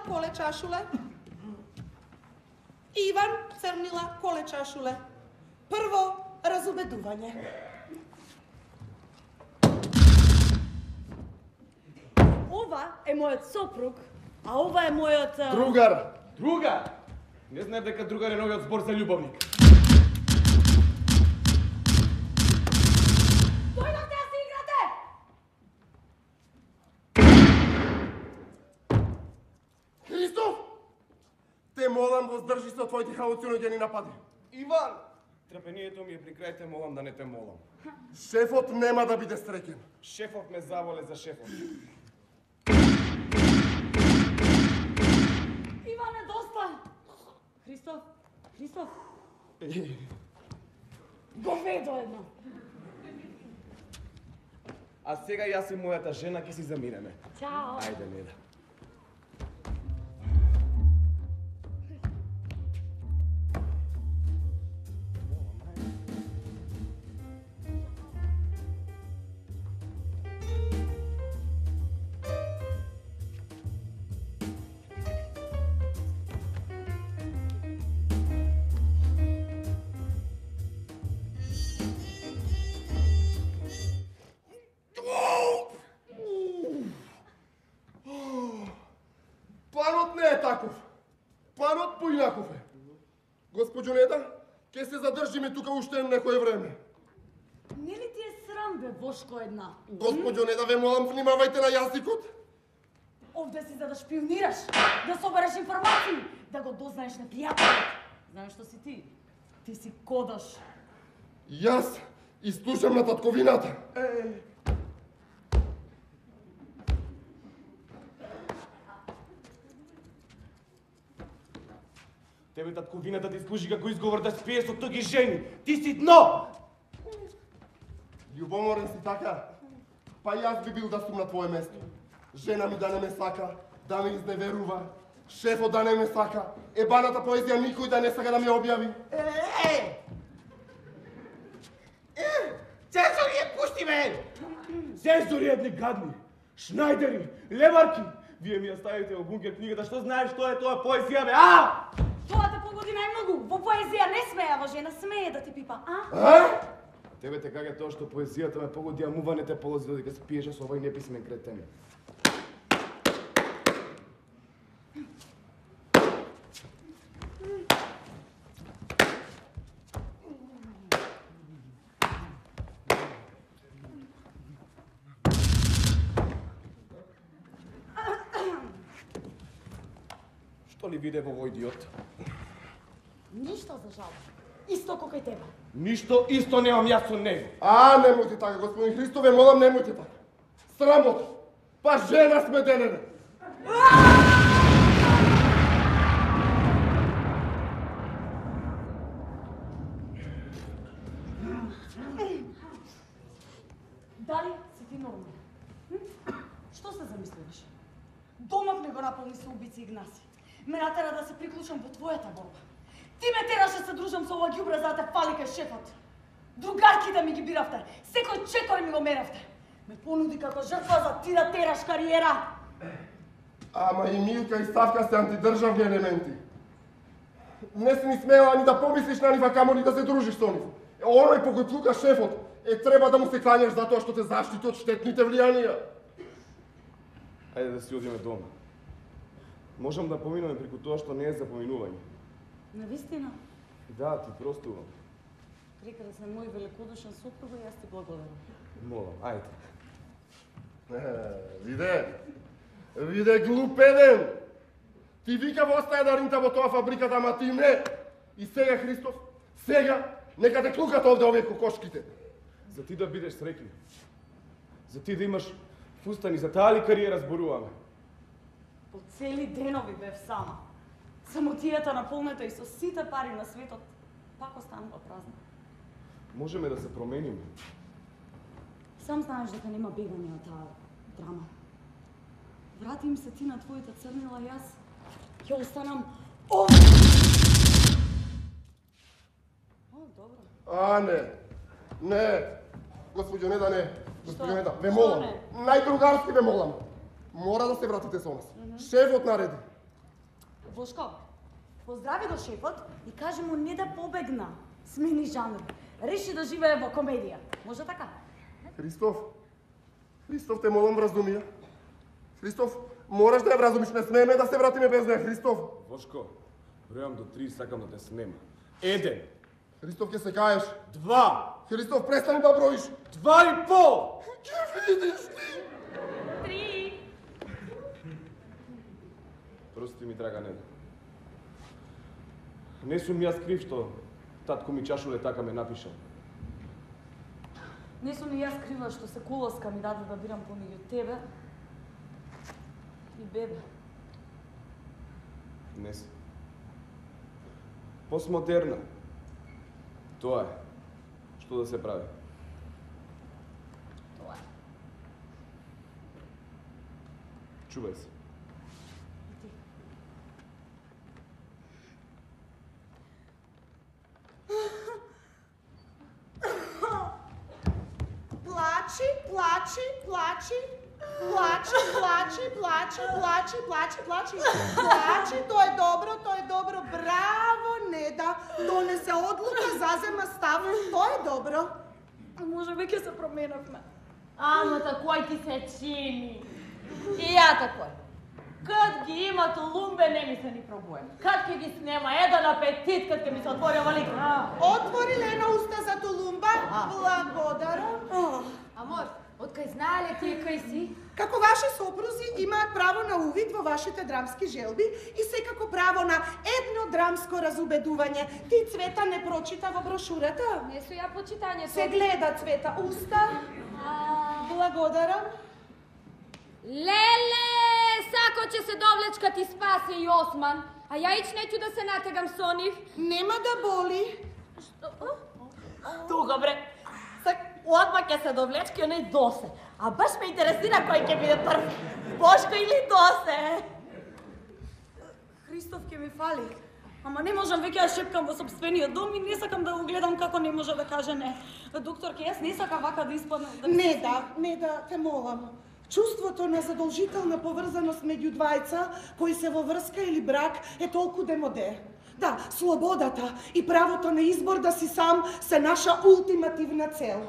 Коле чашуле. Иван црнила коле чашуле. Прво разубедување. е мојот сопруг, а ова е мојот... а, Другар! Другар? Не знаев дека другар е новиот збор за љубовник. Дојдовте да се играте! Христоф! Те молам воздржи се од твоите халуциногени напади. Иван! Трпението ми е при крај, те молам да не те молам. Шефот нема да биде среќен. Шефот ме заволе за шефот. Иване, доста! Христоф, Христоф, говедо едно. А сега јас и мојата жена ќе си заминеме. Чао. Ајде, Неда. Планот не е таков. Планот поинаков е. Госпоđo Неда, ќе се задржиме тука уште некое време. Нели ти е срам, бе, Вошко една? Госпоđo Неда, ве молам, внимавајте на јазикот. Овде си за да шпионираш, да собереш информации, да го дознаеш непријателот. Знаеш што си ти? Ти си кодаш. Јас изслушам на татковината. Тебе татковината ти служи како изговор да спиеш со туги жени. Ти си дно! Љубоморен си така? Па јас би бил да сум на твое место. Жена ми да не ме сака, да ме изневерува, шефот да не ме сака, ебаната поезија никој да не сака да ми објави. Е! Цензори е, пушти ме! Цензори едни гадни, шнајдери, леварки. Вие ми ја ставите во бункер книгата, што знаеш што е тоа поезија, бе, а? Тоа те погоди најмногу. Во поезија не смеева жена, смее да ти пипа, а? А? Тебе те каѓа тоа што поезијата ме погоди, а мува не те полози додека се пиеше со овој неписмен кретен. Што ли виде во овој идиот? Ништо за жал. Исто како и тебе. Ништо исто немам јас со него. А, немојте така, господин Христов, ве молам, немојте така. Срамота. Па жена сме денене. Дали си ти нормален? Што се замислуваш? Домот ме го наполни со убици Игнаси. Ме натера да се приклучам во твојата борба. Ти ме тераше се дружам со ова ѓубре за да те фали кај шефот. Другарките ми ги биравте, секој чекор ми го меравте. Ме понуди како жртва за ти да тераш кариера. Ама и Милка и Ставка се антидржавни елементи. Не си ни смела ни да помислиш на нива, камо ни да се дружиш со нив. Оној по кој плука шефот, е треба да му се клањаш затоа што те заштити од штетните влијанија. Ајде да си одиме дома. Можам да поминуваме преку тоа што не е за поминување. Навистина? Да, ти простувам. Прекрасен мој великодушен сопруг и јас ти благодарам. Молам, ајде. Е, виде, виде глупеден. Ти вика во остаја да ринта во тоа фабриката, ама ти не. И сега, Христос, сега, нека те клукат овде овие кокошките. За ти да бидеш среќен. За ти да имаш фустани, за таа ли кариера зборуваме? По цели денови бев сама. Самотијата наполнета и со сите пари на светот, пак останува празна. Можеме да се промениме. Сам знаеш дека нема бегање од таа драма. Врати им се ти на твоите црнила, јас ќе останам овде. О, добро. А, не, не, госпоđo Неда, не, госпоđo Неда, ве Што молам, не? најдругарски ве молам. Мора да се вратите со нас. Шефот нареди. Вошко, поздрави го шефот и кажи му не да побегна. Смени жанр. Реши да живее во комедија. Може така? Христоф, Христоф, те молам вразумија. Христоф, Мораш да ја вразумиш, не смееме да се вратиме без неја, Христов. Бошко, бројам до три, сакам да те снема. Еден. Христов, ќе се каеш. Два. Христов, престани да броиш. Два и пол. Ќе видиш ти. Три. Прости ми, драга Неда. Не сум јас крив што татко ми чашуле така ме напишал. Не сум и јас крива што се колоска ми даде да бирам помеѓу тебе и бебе. Не си. Постмодерна. Тоа е. Што да се прави? Тоа е. Чувај се. Плачи, плачи, плачи, плачи, плачи, плачи, плачи, плачи, плачи, плачи, тоа е добро, тоа е добро, браво, Неда, донесе одлука, зазема став, тоа е добро. Може би ќе се променавме. Ама такој ти се чини. И ја такој. Кад ги има толумбе, не ми се ни пробуем. Кад ќе ги снема еден апетит, кад ќе ми се отвори овалик. Отвори Лена уста за толумба, благодарам. Амор, откај знаеле ти кај си? Како ваши сопрузи имаат право на увид во вашите драмски желби и секако право на едно драмско разубедување. Ти, Цвета, не прочита во брошурата? Не су ја почитањето. Се гледа, Цвета, уста. Благодарам. Леле, сако ќе се довлечка ти спаси и Осман, а ја ич неќу да се натегам со нив. Нема да боли. Што? Тука, бре. Сак, одма ќе се довлечки, оној Досе. А баш ме интересира кој ќе биде прв. Бошко или Досе? Христов ќе ми фали. Ама не можам веќе да шепкам во собствениот дом и не сакам да го гледам како не може да каже не. Докторке, јас не сакам вака да испадам. Да не да, не да, те молам. Чувството на задолжителна поврзаност меѓу двајца кои се во врска или брак е толку демоде. Да, слободата и правото на избор да си сам се наша ултимативна цел.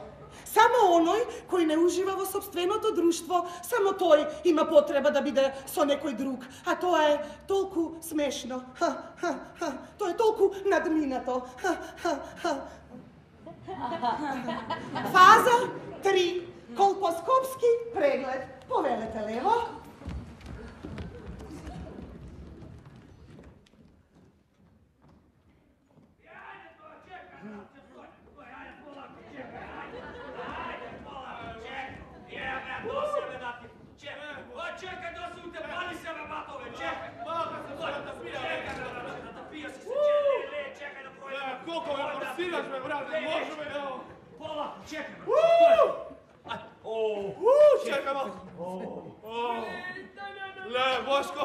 Само оној кој не ужива во собственото друштво, само тој има потреба да биде со некој друг. А тоа е толку смешно. Ха, ха, ха. Тоа е толку надминато. Ха, ха, ха. Фаза три. Колпоскопски преглед. Повелете лево. Чекай, Доси, у те пали се на батове, чекай! Чекай да пројдем! Колко ме форсираш, бе, брат, не можеме, ево! Пола, чекай, бе! Чекай малко! Ле, Бошко!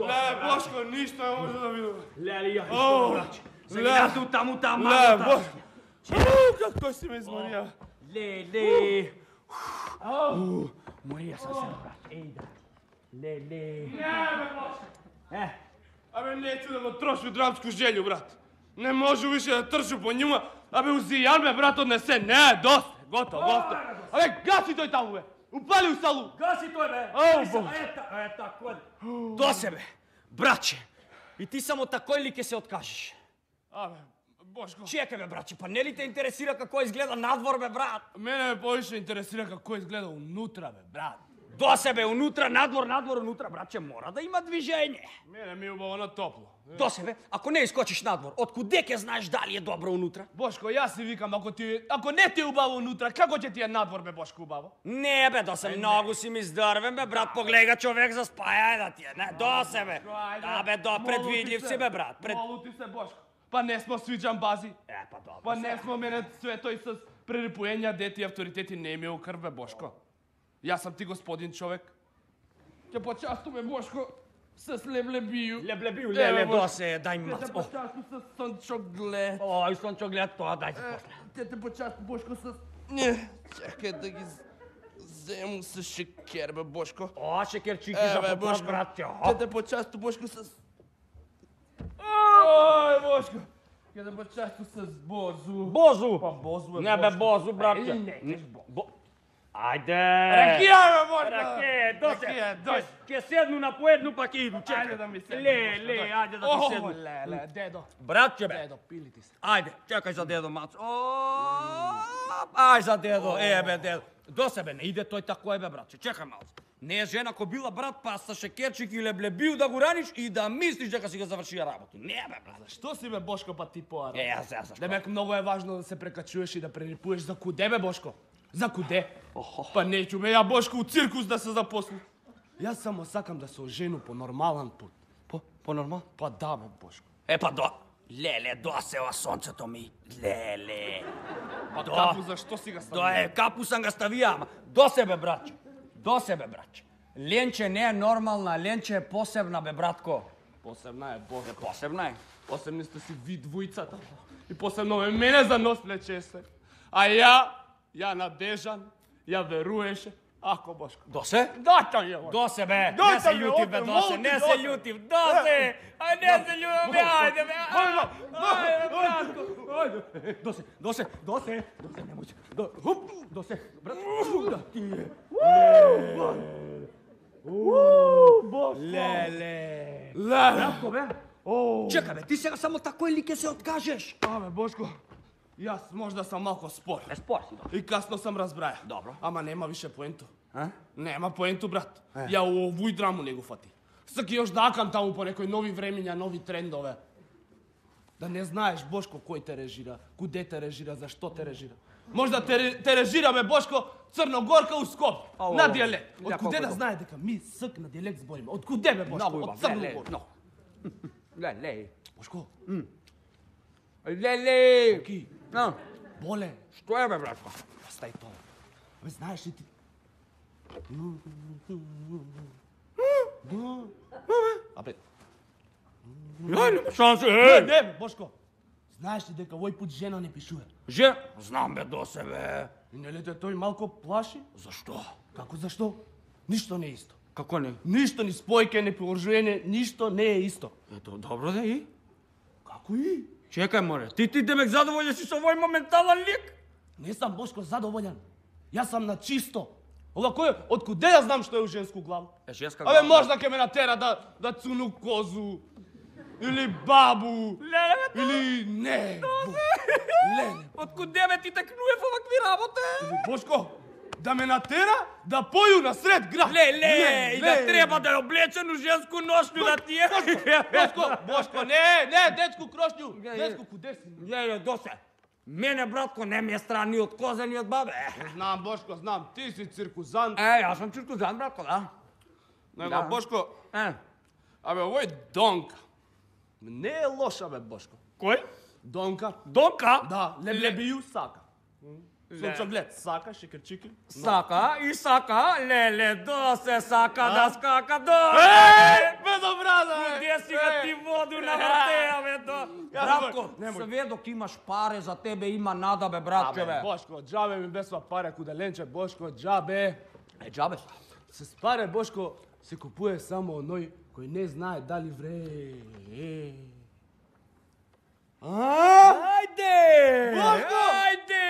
Ле, Бошко, ништо не може да видиме. Лели, ја што враќа. Сега ту таму таму. Ле, Бошко! Како си ме изморија? Леле! Морија сам се, брат. Еј, да. Леле. Не, бе, Бошко! Е? Абе, неću да го трошу драмску желју, брат. Не можу више да трчу по њума. Абе, узијан ме, брат, однесе. Не, доста. Готово, готово. Абе, гаси тој таму, бе. Упали у салу. Гаси тој, бе. Ау, Бог. Ета, ета, кој? До себе, браće. И ти само такој ли ке се откажеш? Абе, Бошко. Чекай, бе, браće, па не ли те интересира како изгледа надвор, бе, брат? Мене ме повише интересира како изгледа унутра, бе, брат. До себе, унутра, надвор, надвор, унутра, браće, мора да има движење. Мене ми е убаво на топло. До себе, ако не искочиш надвор, откуде ќе знаеш дали е добро унутра? Бошко, јас си викам, ако ти ако не ти е убаво унутра, како ќе ти е надвор, бе, Бошко, убаво? Не, бе, до се, многу си ми здрвен, бе, брат, погледа човек за спаја да ти е, не, до себе. Да, бе, до, предвидлив си, бе, брат. Пред... Молу ти се, Бошко. Па не смо свиđan бази. Е, па добро. Па не смо мене све тој с прерипуења, дети и авторитети не ми е у крв, бе, Бошко. Јас сам ти господин човек. Ќе почастуваме, Бошко, с леблебију. Леблебију, леле, до се, дај ми мац. Ќе те почасту с сончоглед. Ој, сончоглед, тоа дај ти после. Ќе те почасту, Бошко, с... Не, чекај да ги зему с шекер, бе, Бошко. О, шекерчики за попот, брат, ќе. Ќе те почасту, Бошко, с... Ој, Бошко. Ќе те почасту с бозу. Бозу? Па бозу е, не, бе, бозу, братче. Не, не, Ајде! Ракија, бе, Бошко! Ракија, дојде! Ракија, дојде! Ќе седну на поедну па ќе иду, чекај. Ајде да ми седне. Ле, ле, ајде да ти седну. О, ле, ле, дедо. Братче бе. Дедо, пили ти се. Ајде, чекај за дедо Мацо. О, ај за дедо, е бе дедо. До себе не иде тој тако е бе братче, чекај малку. Не е жена ко била брат па со шекерчик или блебил да го раниш и да мислиш дека си го завршија работа. Не бе брат. Што си бе Бошко па ти поара? Е, јас јас. Демек многу е важно да се прекачуваш и да прерипуваш за куде бе Бошко? За куде? Па неќу бе ја Бошко у циркус да се запослам. Јас само сакам да се ожену по нормален пат. По по нормал? Па да бе Бошко. Е па до. Леле, досева сонцето ми. Леле. Па капу зашто си га ставија? До е, капу сам га ставија, ама до себе братче. До себе братче. Ленче не е нормална, Ленче е посебна бе братко. Посебна е Бошко. Посебна е. Посебни сте си ви двојцата. И посебно ме мене за нос плечесе. А ја, ја надежан, ја веруеше. Ако Бошко. Досе? Дата ја. Досе бе, не Дојте се ми, љутив бе, опе, Досе, молти, не се Досе. љутив, Досе! Ај не се љутив бе, ајде бе, ајде, ајде братко. Ајде, Досе, Досе, Досе, Досе, немој се. До, хуп, Досе, брат, да ти е. Бошко. Леле. Ле. Братко бе. Чекај бе, ти сега само тако или ќе се откажеш? Абе Бошко, јас можда сам малку спор. Е, спор си, да. И касно сам разбраја. Добро. Ама нема више поенту. А? Нема поенту, брат. Ја у овој драму не го фати. Саки још да акам таму по некои нови времиња, нови трендове. Да не знаеш Бошко кој те режира, куде те режира, зашто те режира. Можда те, те режира бе Бошко Црногорка у Скопје, Ау, на дијалект. ја, Од куде колко да е? знае дека ми ск на дијалект збориме? Од куде бе Бошко? Многу Од убав, леле, Црногорка. много. Леле. Бошко, Леле. ки, А, боле, што е бе, братко? стај тоа. Бе знаеш ли ти? Абе, Ја, нема шанси, не, е! не бе Бошко. Знаеш ли дека овој пат жена не пишува? Же, знам бе до себе. И нели те тој малку плаши? Зашто? Како зашто? Ништо не е исто. Како не? Ништо ни спојке, ни положување, ништо не е исто. Ето, добро да и? Како и? Чекај, море, ти ти демек задоволен си со овој моментален лик? Не сам Бошко задоволен. Јас сам на чисто. Ова кој, од куде ја знам што е у женску глава? Е, женска Абе можда ќе ме натера да да цуну козу или бабу. Леле, бе, Или не. Леле. од куде бе ти текнуев овакви работи? Бошко, да ме натера да поју на сред град. Леле, и да треба да е облечен у женску ношњу да ти е. Бошко, Бошко, не, не, детску крошњу. Детску куде си? Леле, досе. Мене, братко, не ми е стран ни од коза, ни од бабе. Знам, Бошко, знам, ти си циркузант. Е, јас сум циркузант, братко, да. Него, Да. Бошко, Е, абе, овој Донка. Не е лоша, бе, Бошко. кој? Донка. Донка? Да, леблебију сака. Сонцоглед, сака, шекерчики. Сака и сака, леле, досе сака да скака, до. Е, бе, добра, да, Куде си га ти воду на вратеја, бе, до. Ја, Братко, немој. све док имаш паре за тебе има нада, бе, братче, Абе, бе. Бошко, џабе ми бесва паре куделенче, Бошко, џабе. Е, џабе. С паре, Бошко, се купуе само оној кој не знае дали вре. Ајде! Бошко! Ајде!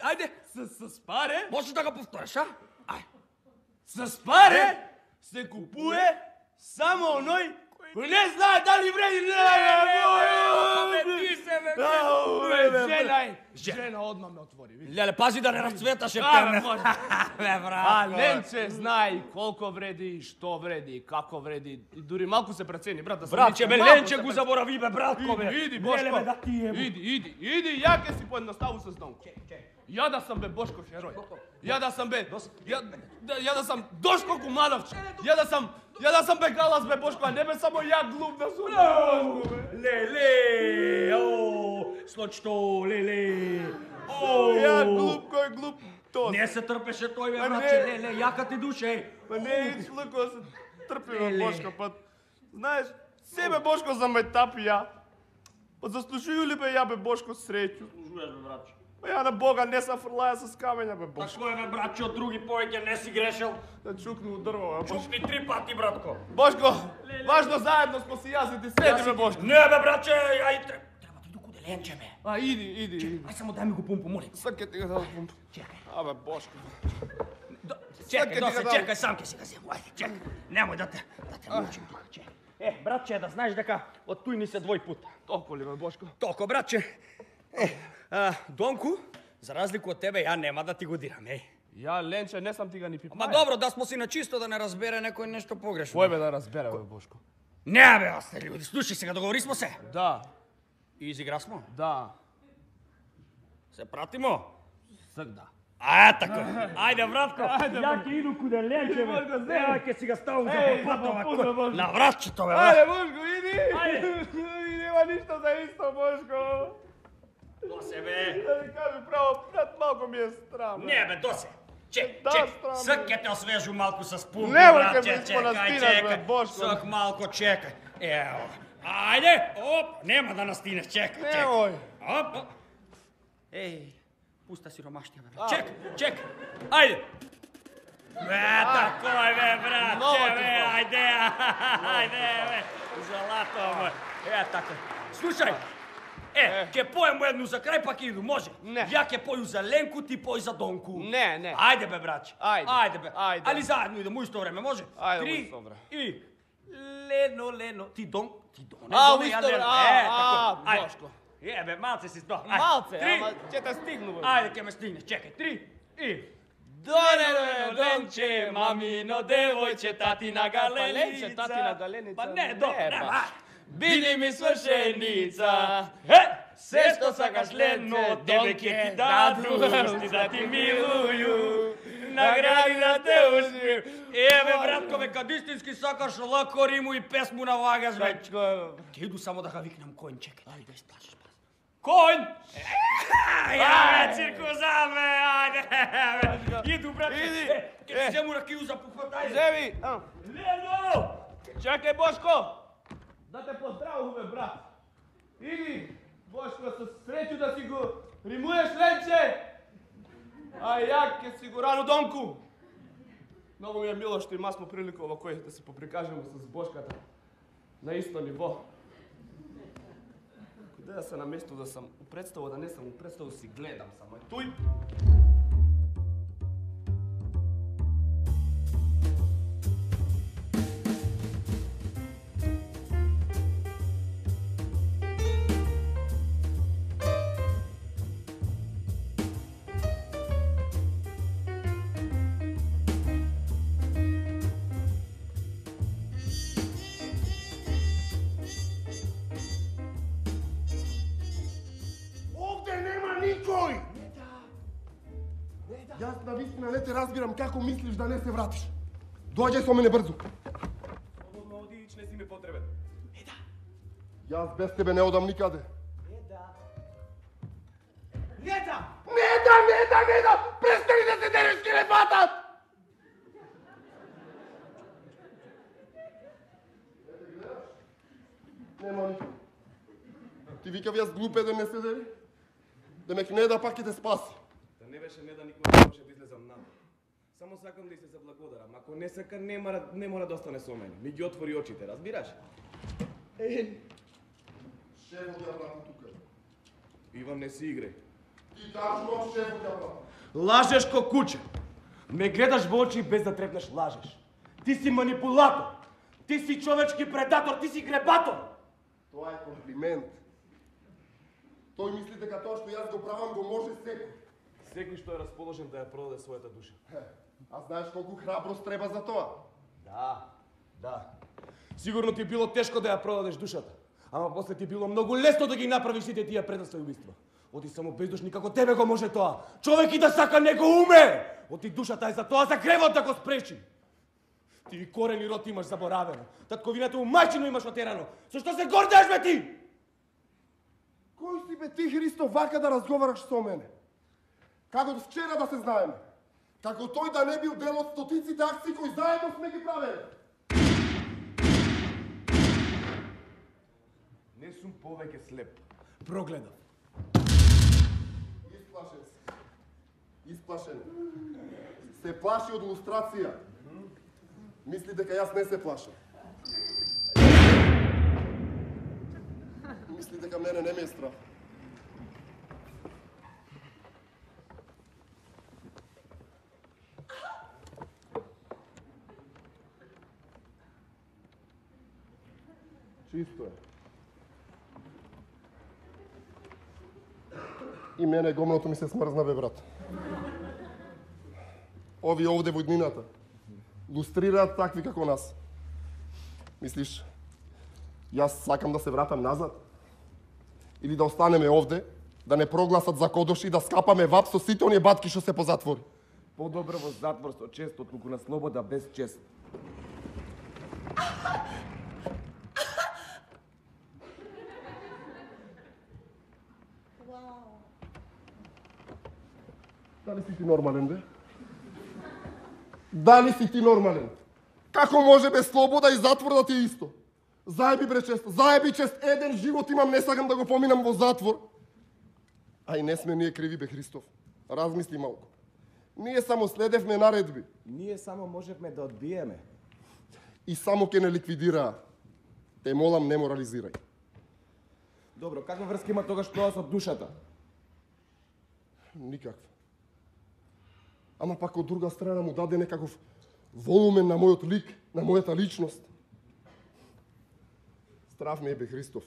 Ајде! С, с паре, Можеш да го повториш, а? Ај. с паре се купуе само оној кој не знае дали вреди. Бе, ти се, бе, Ау, бе, бе, бе, Жена е, жена одма ме отвори. види. Леле, пази да не расцветаш А, ептerne. може. Бе, брат. А Ленче знае и колко вреди, и што вреди, и како вреди. И дури малку се прецени, брат, да се Братче, бе, малку Ленче се го прецени. заборави, бе, братко, бе. Иди, иди, Леле, Бошко. бе, да ти е, бе. Иди, иди, иди, ја ке си поедноставу со Донко. Ја да сам бе Бошко херој. Ја да сам бе, ја, да, ја да сам Дошко Кумановче. Ја да сам, ја да сам бе Галас бе Бошко, а не бе само ја глуп да сум Бошко бе. Леле, о, случто, леле. О, Ја глуп, кој глуп тос. Не се трпеше тој, бе, Па братче, не. леле, јака ти душе. Па не е члуко се трпи бе Леле. Бошко, па знаеш, себе Бошко за метапи ја. Па заслужую ли бе ја бе Бошко среќу? Служуваш, бе, братче. Па ја на Бога не са фрлаја с камења бе Бошко. Тако е, бе, братче, од други повеќе не си грешел. Да чукну у дрво бе Бошко. Чукни три пати, братко. Бошко, важно заедно смо си јас и ти седи бе Бошко. Не, бе, братче, ај, треба треба ти докуде Ленче, бе. А иди, иди, иди. Ај само дај ми го пумпу, молим. Сак ќе ти го дадам пумп. Чекај. Абе Бошко. Чекај, досе, чекај, сам ќе си го зему, ајде, чекај. Немој да те, да те мучим тука, чекај. Е, братче, да знаеш дека од туј ни се двој пута. Толку ли ме, Бошко? Толку, братче. Е, а, Донку, за разлику од тебе, ја нема да ти го дирам, еј. Ја, Ленче, не сам ти га ни пипаја. Ма добро, да смо си на чисто, да не разбере некој нешто погрешно. Кој бе да разбере, бе, Бошко? Не, бе, осте луѓе, слушај сега, договори смо се. Да. И изигра смо? Да. Се пратимо? Сагда. А, така. Ајде, братко. Ја ќе иду куде Ленче, бе. Ја ќе си га ставам за попатова. На вратчето, бе. Ајде, Бошко, иди. Ајде. И нема ништо за исто, Бошко. Досе, бе. Да ви кажу право, брат, малко ми е страм. Не, бе, досе. Чек, Да, чек. страм, Сак ќе те освежу малку со спум. Немој ке братче, ме испонастинаш, чекај, бе, чекај. Бошко. Сак малко чекај. Ево. Ајде, оп, нема да настинеш, чекај, чекај. Немој. Оп, оп. Еј, пуста сиромаштија, бе. Чек, чек. Ајде. Бе, такој, бе, братче, бе, ајде, ајде, бе. Злато мој. Е, така. Слушај, е, ќе поем едну за крај, па ќе иду, може? Не. Ја ќе поју за Ленку, ти пој за Донку. Не, не. Ајде, бе, браќе. Ајде. Ајде, бе. Ајде. Али заедно идемо, исто време, може? Ајде, Три, исто време. И... Лено, Лено, ти Дон, ти Доне, А, Доне, у ја исто Лено. време, Е, а, тако. а, Ајде. Бошко. Е, бе, малце си спал. Малце, Три. ама ќе те стигну, бе. Ајде, ќе ме стигнеш, чекај. Три, и... Доне, Ленче, мамино девојче, тати на галеница. Ленче, тати на галеница. Па не, добро, не, нема. ба. Биди ми свршеница. Е, се што сакаш Лено, тебе ќе ти даду, усти да ти милуju, награди да те усмију. Еве, братко, бе, кад истински сакаш лако риму и песму навагаш, бе. Ќе иду само да га викнам коњ, чекај, ајде, сплашиш, пас. Коњ! Ја, бе, циркуза, бе, ајде, бе. Иду, братко, е, ќе ти зему ракiju за пухват, ајде. Земи. Лено! Чакај, Бошко. Да те поздравуваме, брат. Иди, Бошко, со среќу да си го римуеш, Ленче. А ја ќе си го рану Донку. Многу ми е мило што има смо прилика во кој да се поприкажеме с Бошката на исто ниво. Куде да се на место да сам у представа, да не сам у представа, си гледам само туј. Јас навистина не те разбирам како мислиш да не се вратиш. Доаѓај со мене брзо. Слободно оди, не си ми потребен. Еда. Јас без тебе не одам никаде. Еда. Неда! Неда, неда, неда! Престани да се дереш, ке не фатат! Нема никој. Ти викав јас глупе да не се дери? Демек Неда пак ќе те спаси. Да не беше Неда, никој не може да излезам надвор. Само сакам да и се заблагодарам. Ако не сака, не мора, не мора да остане со мене. Ми ги отвори очите, разбираш? Е, шефот ја врати тука. Иван, не си играј. Ти кажувам шефот ја врати. Лажеш ко куче. Ме гледаш во очи без да трепнеш, лажеш. Ти си манипулатор. Ти си човечки предатор, ти си гребатор. Тоа е комплимент. Тој мисли дека тоа што јас го правам го може секој. Секој што е расположен да ја продаде својата душа. А знаеш колку храброст треба за тоа? Да, да. Сигурно ти било тешко да ја продадеш душата. Ама после ти било многу лесно да ги направиш сите тие предавства и убиства. Оти само бездушни како тебе го може тоа. Човек и да сака не го уме. Оти душата е за тоа, за гревот да го спречи. Ти корен и род имаш заборавено. Татковината у мајчино имаш отерано. Со што се гордееш бе ти? Кој си бе ти, Христо, вака да разговараш со мене? Како до вчера да се знаеме? Како тој да не бил дел од стотиците акции кои заедно сме ги правеле? Не сум повеќе слеп. Прогледав. Исплашен се. Исплашен. Се плаши од лустрација. Мисли дека јас не се плашам. Мисли дека мене не ме е страх. Чисто е. И мене гомното ми се смрзна, бе, брат. Овие овде во иднината лустрираат такви како нас. Мислиш, јас сакам да се вратам назад? Или да останеме овде, да не прогласат за кодош и да скапаме вап со сите оние батки што се по затвори? Подобро во затвор со чест, отколку на слобода без чест. Дали си ти нормален, бе? Дали си ти нормален? Како може без слобода и затвор да ти е исто? Заеби, бре, чест, заеби, чест, еден живот имам, не сакам да го поминам во затвор. А и не сме ние криви, бе, Христов. Размисли малку. Ние само следевме наредби. Ние само можевме да одбиеме. И само ке не ликвидираа. Те молам, не морализирај. Добро, каква врска има тогаш тоа со душата? Никаква. Ама пак од друга страна му даде некаков волумен на мојот лик, на мојата личност. Страв ме е, бе, Христов.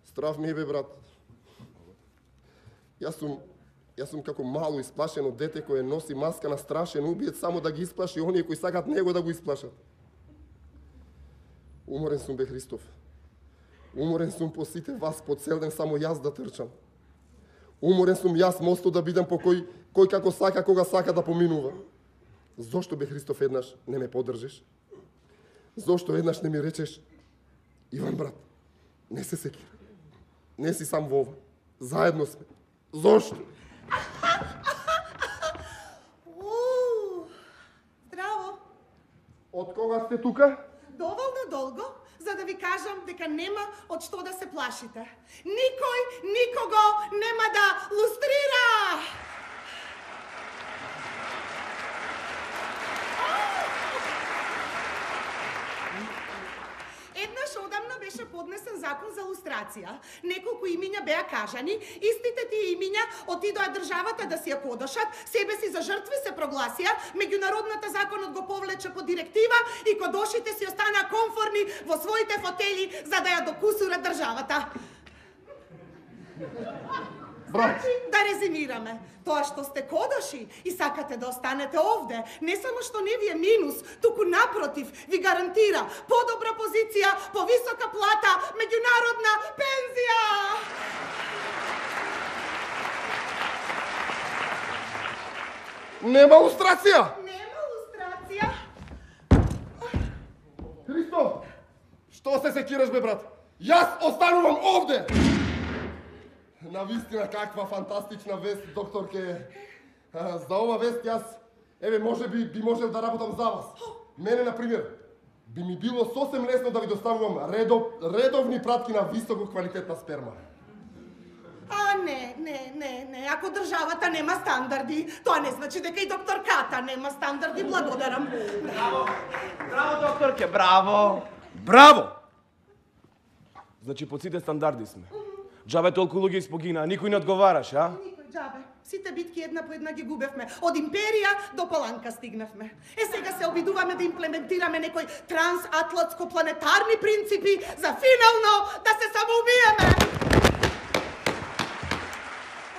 Страв ме е, бе, брат. Јас сум, јас сум како мало исплашено дете кое носи маска на страшен убиец само да ги исплаши оние кои сакат него да го исплашат. Уморен сум, бе, Христов. Уморен сум по сите вас, по цел ден само јас да трчам. Уморен сум јас мостот да бидам по кој, кој како сака, кога сака да поминува. Зошто, бе, Христов, еднаш не ме поддржиш? Зошто еднаш не ми речеш: Иван, брат, не се секира. Не си сам во ова. Заедно сме. Зошто? Здраво. Од кога сте тука? Доволно долго, за да ви кажам дека нема од што да се плашите. Никој никого нема да лустрира! Еднаш одамна беше поднесен закон за лустрација. Неколку имиња беа кажани, истите тие имиња отидоа државата да си ја подошат, себе си за жртви се прогласија, меѓународната законот го повлече по директива и кодошите си останаа комфорни во своите фотели за да ја докусура државата. Брат. Значи, да резимираме. Тоа што сте кодоши и сакате да останете овде, не само што не ви е минус, туку напротив, ви гарантира подобра позиција, повисока плата, меѓународна пензија. Нема лустрација! Нема лустрација. Христов, што се секираш, бе, брат? Јас останувам овде! На вистина, каква фантастична вест, докторке. А, за ова вест јас, еве, може би, би можел да работам за вас. Мене, например, би ми било сосем лесно да ви доставувам редов, редовни пратки на високо квалитетна сперма. А, не, не, не, не. Ако државата нема стандарди, тоа не значи дека и докторката нема стандарди. Благодарам. Браво! Браво, докторке, браво! Браво! Значи, под сите стандарди сме. Джабе толку луѓе испогина, никој не одговараш, а? Никој, джабе. Сите битки една по една ги губевме. Од империја до Паланка стигнавме. Е, сега се обидуваме да имплементираме некои трансатлантско-планетарни принципи за финално да се самоубиеме.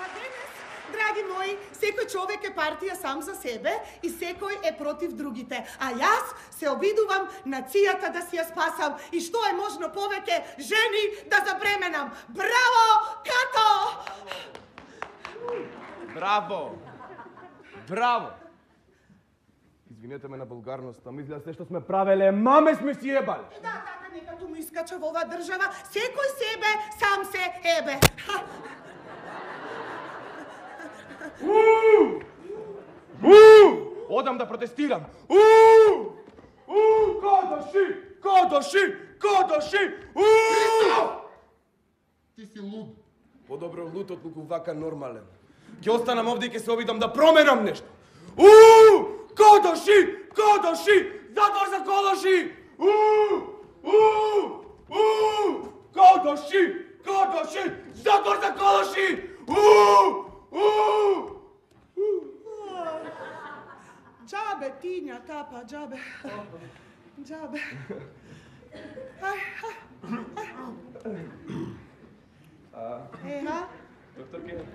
А денес, драги мои, секој човек е партија сам за себе и секој е против другите. А јас се обидувам нацијата да си ја спасам и што е можно повеќе жени да забременам. Браво, Като! Браво! Браво! Извинете ме на булгарноста, мисля се што сме правеле, маме сме си ебале. Да, да, да, нека му искача во оваа држава, секој себе сам се ебе. Уу! Уу! Одам да протестирам. Уу! Уу! Кодоши! Кодоши! Кодоши! Уу! Ти си луд. Подобро луд отколку вака нормален. Ќе останам овде и ќе се обидам да променам нешто. Уу! Кодоши! Кодоши! Затвор за кодоши! Уу! Уу! Уу! Кодоши! Кодоши! Затвор за кодоши! Уу! Уу! Джабе, Тиња, тапа, джабе. Джабе. Еха? Докторке,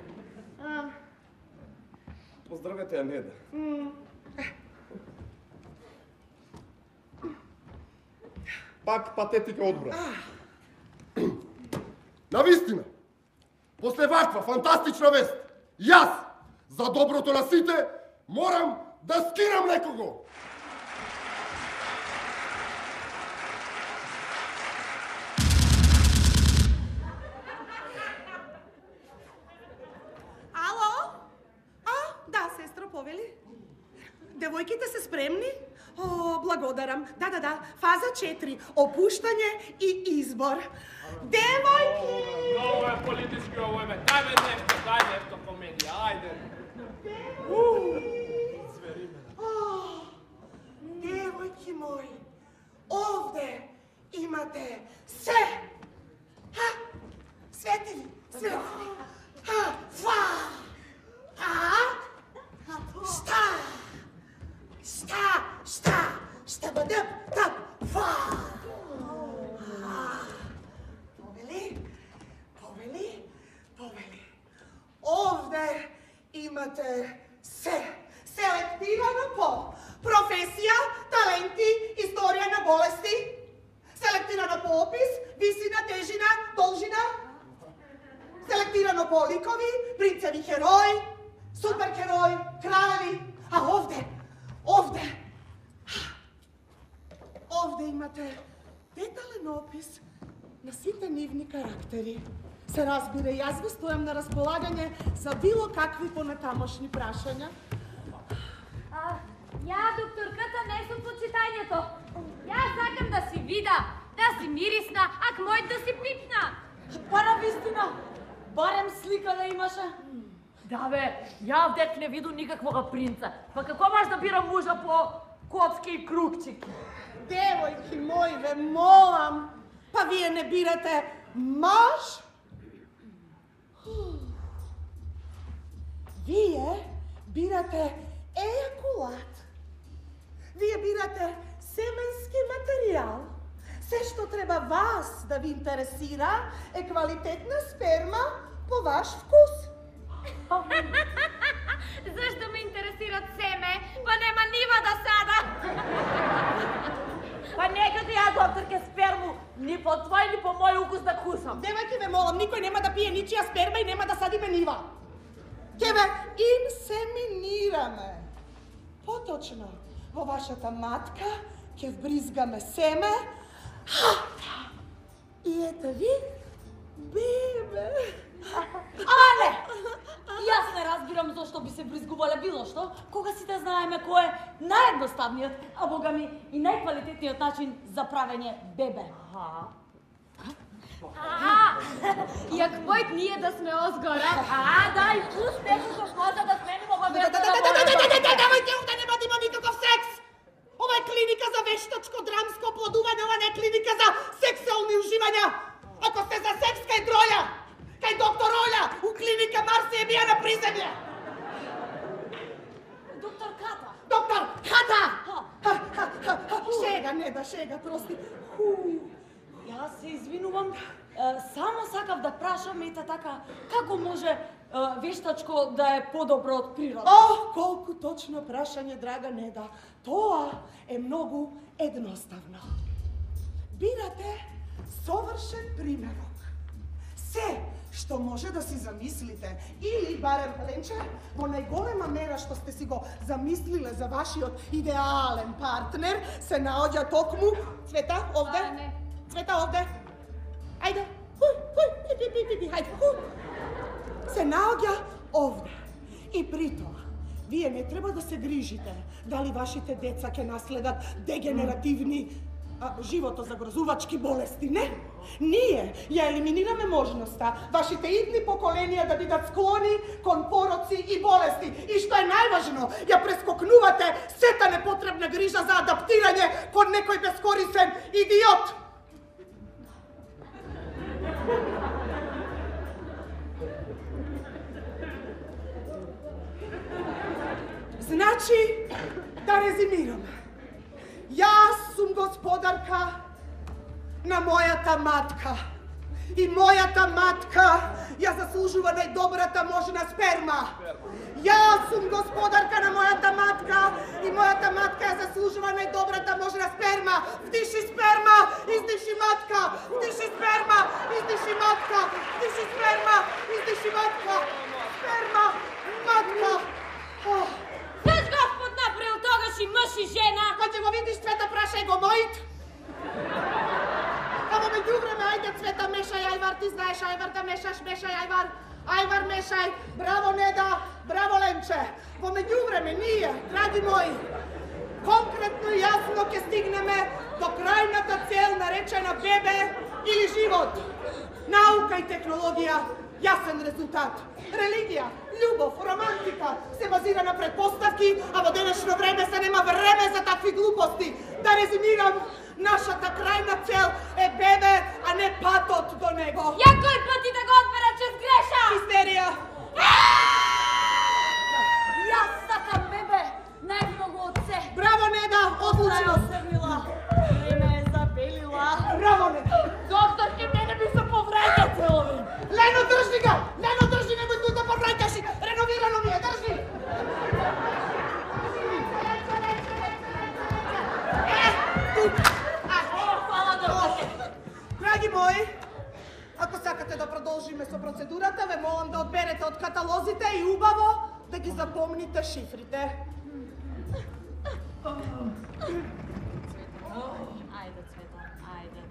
поздравете ја Неда. Пак патетика одбрана. Навистина, после ваква фантастична вест, јас, за доброто на сите, морам да скирам некого. Ало? А, да, сестро, повели. Девојките се спремни? О, благодарам. Да, да, да. Фаза четири. Опуштање и избор. Девојки! Ovo je politički, ovo je me. Daj me nešto, daj nešto komedija, ajde. Девојки мои, овде имате се. Ха, светили, светили. Ха, фа. А? Шта? Шта, шта, шта бъдъп, тъп, фа. Повели, повели, повели. Овде имате се. Селектирано по професија, таленти, историја на болести. Селектирано по опис, висина, тежина, должина. Селектирано по ликови, принцеви херои, супергерои, кралеви. А овде, овде, овде имате детален опис на сите нивни карактери. Се разбира, јас ви стојам на располагање за било какви понатамошни прашања. А, ја, докторката, не сум по читањето. Јас сакам да си вида, да си мирисна, ак мојот да си пипна. Па навистина, барем слика да имаше. Да бе, ја вдек не виду никаквога принца. Па како маш да бира мужа по коцки и кругчики? Девојки мои, ве молам, па вие не бирате маж? Вие бирате ејакулат. Вие бирате семенски материјал. Се што треба вас да ви интересира е квалитетна сперма по ваш вкус. Зашто ме интересират семе? Па нема нива да сада. Па нека ти ја, докторке, сперму ни по твој, ни по мој укус да кусам. Девојки, ве молам, никој нема да пие ничија сперма и нема да садиме нива. Ке ве инсеминираме. Поточно, во вашата матка ќе вбризгаме семе. И ете ви, бебе. Але! Јас не разбирам зошто би се бризгувале било што, кога сите знаеме кој е наједноставниот, а бога ми и најквалитетниот начин за правење бебе. А, јак мојт ние да сме озгора. А, да, и пуст некој коза да сменимо во бебе. Давајте овде, нема да има никаков секс! Ова е клиника за вештачко драмско оплодување, ова не е клиника за сексуални уживања. Ако сте за секс, кај Троја, кај доктор Оля, у клиника Марси е бија на приземје. Доктор Ката. Доктор Ката! Шега, не да шега, прости. Јас се извинувам, само сакав да прашам, ете така, како може вештачко да е подобро од природа? О, колку точно прашање, драга Неда. Тоа е многу едноставно. Бирате совршен примерок. Се што може да си замислите, или барем, Ленче, во најголема мера што сте си го замислиле за вашиот идеален партнер, се наоѓа токму, Цвета, овде, А, не. Цвета, овде, ајде, хуј, хуј, пи, пи, пи, пи, пи, хајде, хуј, се наоѓа овде. И при тоа, вие не треба да се грижите дали вашите деца ќе наследат дегенеративни а, животозагрозувачки болести, не. Ние ја елиминираме можноста вашите идни поколенија да бидат склони кон пороци и болести. И што е најважно, ја прескокнувате сета непотребна грижа за адаптирање кон некој бескорисен идиот. Значи, да резимираме. Јас сум господарка на мојата матка. И мојата матка ја заслужува најдобрата можна сперма. Јас сум господарка на мојата матка и мојата матка ја заслужува најдобрата можна сперма. Вдиши сперма, издиши матка. Вдиши сперма, издиши матка. Вдиши сперма, издиши матка. Сперма, матка. Заш Господ направил тогаш и мъж и жена? Кога ќе го видиш цвета, прашај го мојт. А во меѓувреме, ајде Цвета, мешај, Ајвар, ти знаеш Ајвар да мешаш, мешај Ајвар. Ајвар, мешај. Браво, Неда, браво, Ленче. Во меѓувреме, ние, драги мои, конкретно и јасно ќе стигнеме до крајната цел наречена бебе или живот. Наука и технологија, јасен резултат. Религија, љубов, романтика се базира на предпоставки, а во денешно време се нема време за такви глупости. Да резимирам, нашата крајна цел е бебе, а не патот до него. Ја кој пати да го одбера че сгреша? Истерија. Јас сакам бебе, најмногу од се. Браво, Неда, одлучност. Време е забелила. Браво, Неда. Доктор, ке мене би се повраќа целови. Лено, држи го! Лено, држи, немој тут да повраќаш. Реновирано ми е, држи. Драги мои, ако сакате да продолжиме со процедурата, ве молам да одберете од каталозите и убаво да ги запомните шифрите. Ајде, Цвета, ајде.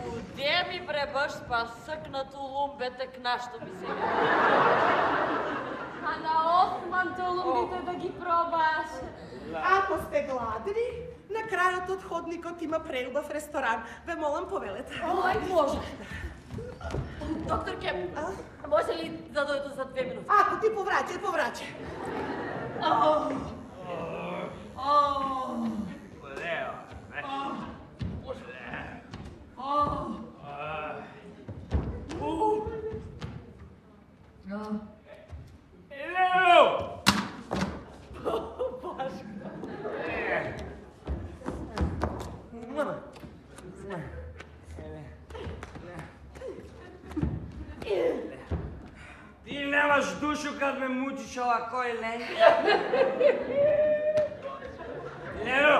Куде ми бребаш па съкнато лумбете кнашто би се. А на османто лумбите да ги пробаш. Ако сте гладни, на крајот од ходникот има преубав ресторан. Ве молам, повелете. Ој, може. Докторке, може ли да дојду за две минути? Ако ти повраќај, повраќај. Ти немаш душу кад ме мучиш овако, Лен. Лено,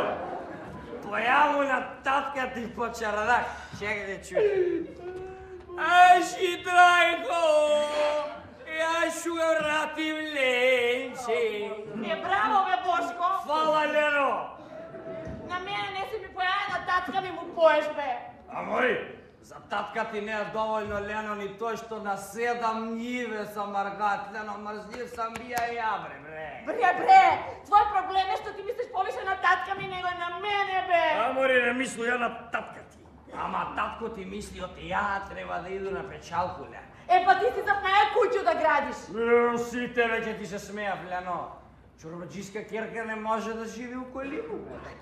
појаво на татка ти по чарадак. Чекай да чуеш. Аж и трајко, јас шу го вратим Ленче. Е, браво, бе, Бошко! Фала, Лено. На мене не си ми појави, на татка ми му поеш, бе. А мој, за татка ти не е доволно, Лено, ни тој што на седам ниве са маргат, Лено, мрзлив сам бија и ја, бре, бре. Бре, бре, твој проблем е што ти мислиш повише на татка ми него на мене, бе. А мори, не мислу ја на татка ти. Ама татко ти мисли од ја треба да иду на печалку, Лено. Е, па ти си за моја куќу да градиш. Е, сите веќе ти се смејав, Лено. Чорбаджиска керка не може да живи у колибу.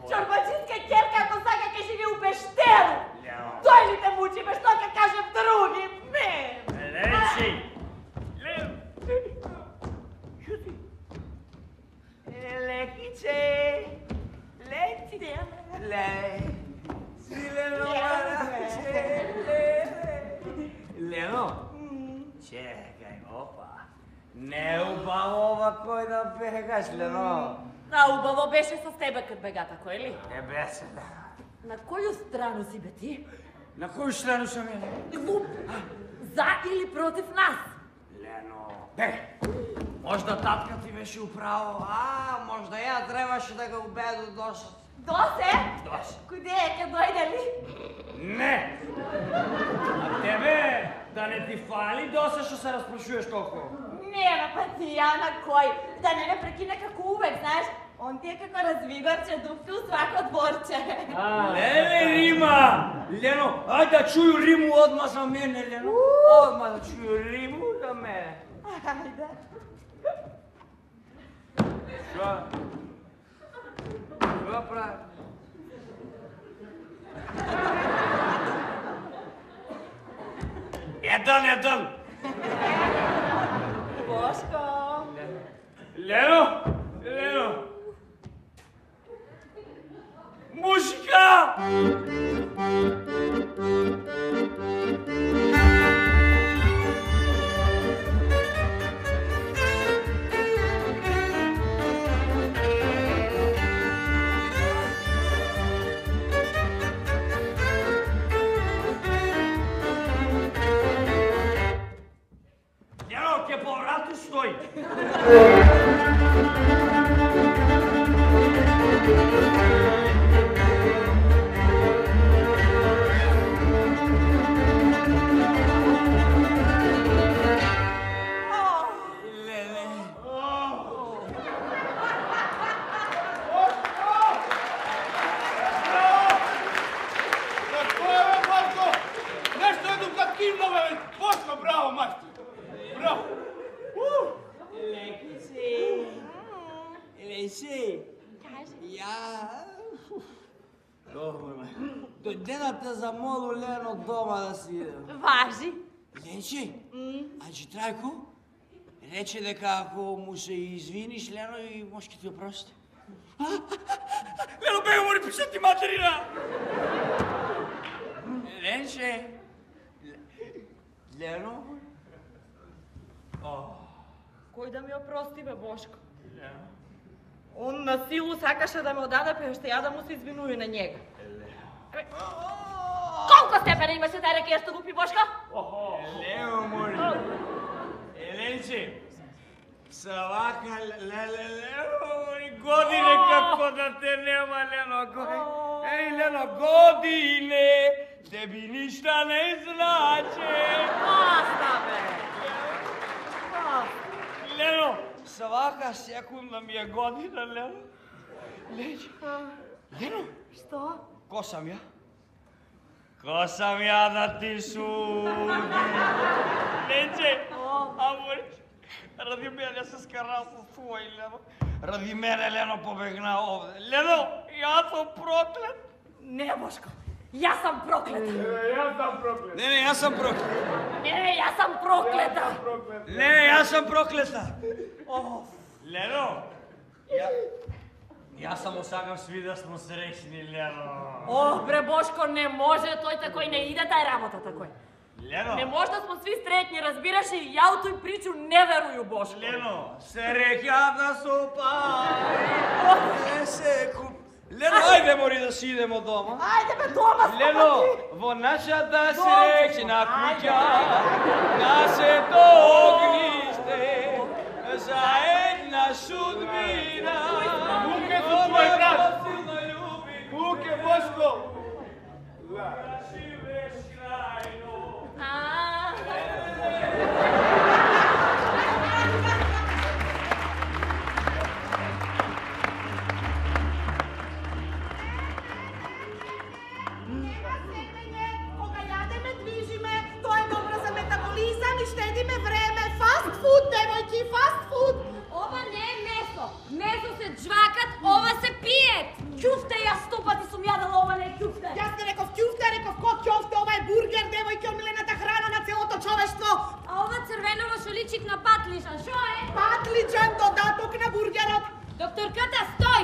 Чорбаджиска керка, ако сака ке живи у пештеру. Лено. Тој ли те мучи, бе, што ке кажем други? Ме! Лечи! Лено! Шути! Лекиче! Лекиче! Ле! Си Лено, мараче! Лено! Чекај, опа! Не убаво овако да бегаш, Лено. А убаво беше со тебе кад бегата, кој ли? Не беше, да. На коју страну си, бе, ти? На коју страну сам ја? Глуп! За или против нас? Лено, бе, можда татка ти беше управо, а можда ја требаше да го убеду доше. Досе? Доше. Куде е, ке дојде ли? Не! А тебе да не ти фали досе што се распрашуваш толку? Нема па ти ја на кој, да не ме прекине како увек, знаеш, он ти е како развигарче, дупки у свако дворче. Леле, Рима! Лено, ајде да чуju Риму одма за мене, Лено. Одма да чуju Риму за мене. Ајде. Шо? Шо прави? Еден, еден! Бошко! Лено! Лено! Eno, ќе по врату стои. Браво, мајстор! Браво! Лекице! Лесе! Ја... Добро, дојдената за молу Лено дома да си идем. Важи. Лече, ајче Трајко, рече дека ако му се извиниш, Лено и може ќе ти опрости. Лено, бега, мори пишати материна! Ленче! Лено? Кој да ми опрости, бе, Бошко? Он на силу сакаше да ме одаде, па што ја да му се извинуju на njega. Колко степена имаше тај рекија што го пи, Бошко? Лео, мори. Еленче, са вака, леле, године како да те нема, Лено. Еј, Лено, године, теби ништа не значи. Баста, бе. Лено, свака секунда ми е година, Лено. Лече. Лено. Што? Ко сам ја? Ко сам ја да ти суди? Лече. Амор, ради мене се скара со твој, Лено. Ради мене, Лено, побегна овде. Лено, јас сум проклет. Не, Бошко. Јас сам проклета. Јас сам проклет. Не, не, јас сам проклет. Не, јас сам проклета. Не, јас сам проклета. Лено, ја... Јас само сакам сви да смо среќни, Лено. О, бре, Бошко, не може, тој такој не иде тај работа такој. Лено. Не може да смо сви среќни, разбираш, и ја у тој причу не верую, Бошко. Лено, среќата со пари, не се куп... Лено, ајде, мори да си идемо дома. Ајде, бе, дома сме. Лено, во нашата среќна куќа, нашето огниште, заедна судбина. Буке со твој брат. Буке, Бошко. Живееш крајно. Кога јадеме, движиме, тоа е добро за метаболизам и штедиме време. Фаст фуд, девојки, фаст фуд. Ова не е месо. Месо се джвакат, ова се пиет. Кјуфте, јас сто пати сум јадала, ова не е кјуфте. Јас не реков кјуфте, реков ко кјуфте, ова е бургер, девојки, омилената храна на целото човештво. А ова црвеново што личи на патлиџан, шо е? Патлиџан, додаток на бургерот. Докторката, стој!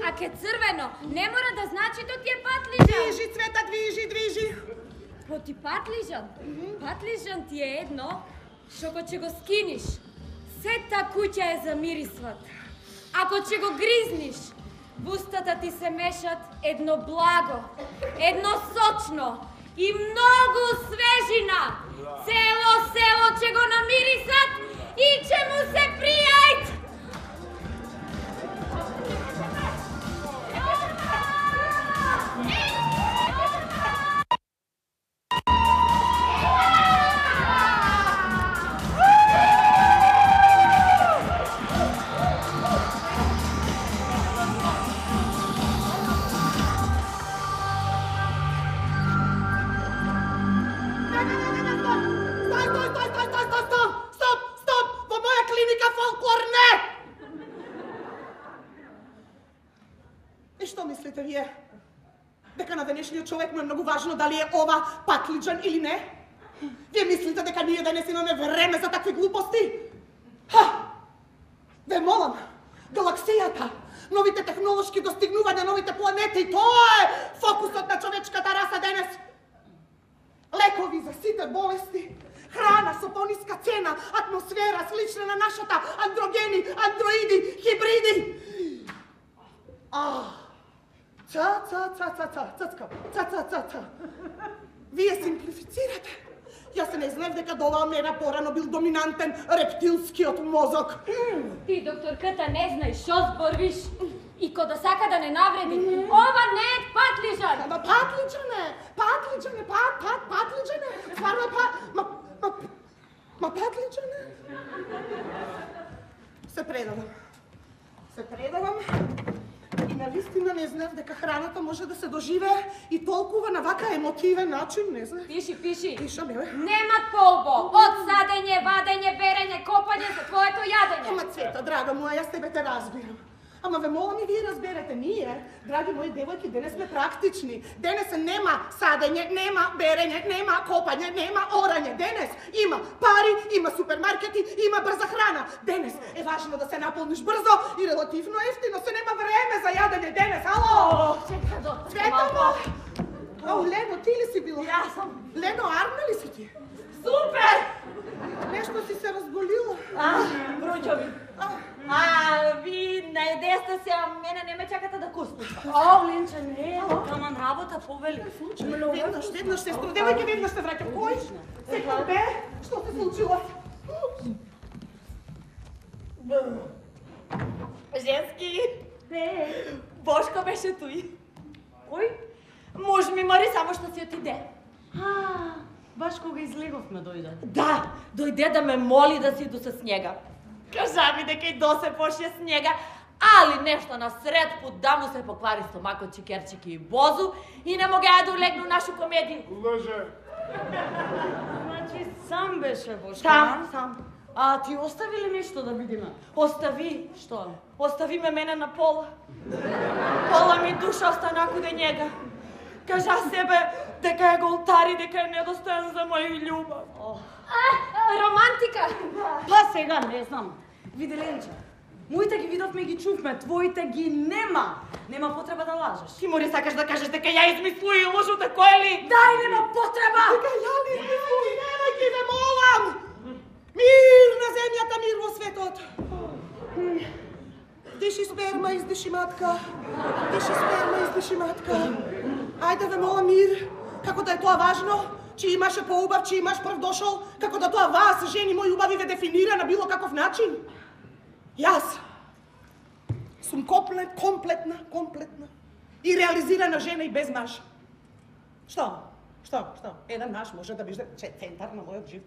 А ке црвено, не мора да значи то ти е патлиџан. Движи, Цвета, движи, движи. По ти патлиџан? Патлиџан ти е едно, што го ќе го скиниш, сета куќа е замирисват. Ако ќе го гризниш, в устата ти се мешат едно благо, едно сочно и многу свежина. Цело село ќе го намирисат и ќе му се пријајт. Човек му е многу важно дали е ова патлиџан или не? Вие мислите дека ние денес имаме време за такви глупости? Ха! Ве молам, галаксијата, новите технолошки достигнувања, новите планети, тоа е фокусот на човечката раса денес. Лекови за сите болести, храна со пониска цена, атмосфера слична на нашата, андрогени, андроиди, хибриди. А, ца, ца, ца, ца, ца, цацка, ца, ца, ца, ца. Вие симплифицирате. Јас се не знаев дека до оваа мера порано бил доминантен рептилскиот мозок. Ти, докторката, не знаеш шо зборвиш и кода сака да не навреди. Ова не е патлиџан. Ама патлиџан е, патлиџан е, пат, пат, патлиџан е. Стварно па, ма, ма, ма патлиџан е. Се предавам. Се предавам. И навистина не знаев дека храната може да се доживее и толкова на вака емотивен начин, не знаев. Пиши, пиши. Пишам, бе. Нема полбо. Од садење, вадење, берење, копање за твоето јадење. Ама Цвета, драга моја, јас тебе те разбирам. Ама ве молам и вие разберете, ние, драги мои девојки, денес сме практични. Денес нема садење, нема берење, нема копање, нема орање. Денес има пари, има супермаркети, има брза храна. Денес е важно да се наполниш брзо и релативно ефтино, се нема време за јадење денес. Ало! Чека, доктор, Цвета, малко. Ау, Лено, ти ли си била? Јас сум. Лено, арна ли си ти? Супер! Нешто си се разболила. А, бруќови. А, ви наедесте се, а мене не ме чакате да куснете. О, Ленче, не. Таман работа повели. Веднаш, веднаш, сестро, девојке, веднаш се враќам. Кој? Секој бе? Што се случило? Женски. Бошко беше туј. Кој? Муж ми мори само што си отиде. А, баш кога излеговме дојде. Да, дојде да ме моли да си иду со снега. Кажа ми дека и до се пошие снега, али нешто на сред пут да му се поквари стомакот Чикерчики и Бозу и не могеа да улегну нашу комедија. Лже. Значи сам беше Бошко. Сам, сам. А ти остави ли нешто да видиме? Остави. Што? Остави ме мене на пола. Пола ми душа остана куде njega. Кажа себе дека е голтари, дека е недостоен за моја љубов. А, романтика. Па сега не знам. Види Ленче, моите ги видовме и ги чувме, твоите ги нема. Нема потреба да лажеш. Ти мори сакаш да кажеш дека ја измислуи и лжу, тако е ли? Дај, нема потреба! Дека ја не измислуи, немај ги ве молам! Мир на земјата, мир во светот! Диши сперма, издиши матка. Диши сперма, издиши матка. Ајде ве молам мир, како да е тоа важно, че имаше поубав, че имаш прв дошол, како да тоа вас, жени мои убави, ве дефинира на било каков начин. Јас сум комплет, комплетна, комплетна и реализирана жена и без маж. Што? Што? Што? Еден маж може да биде центар на мојот живот.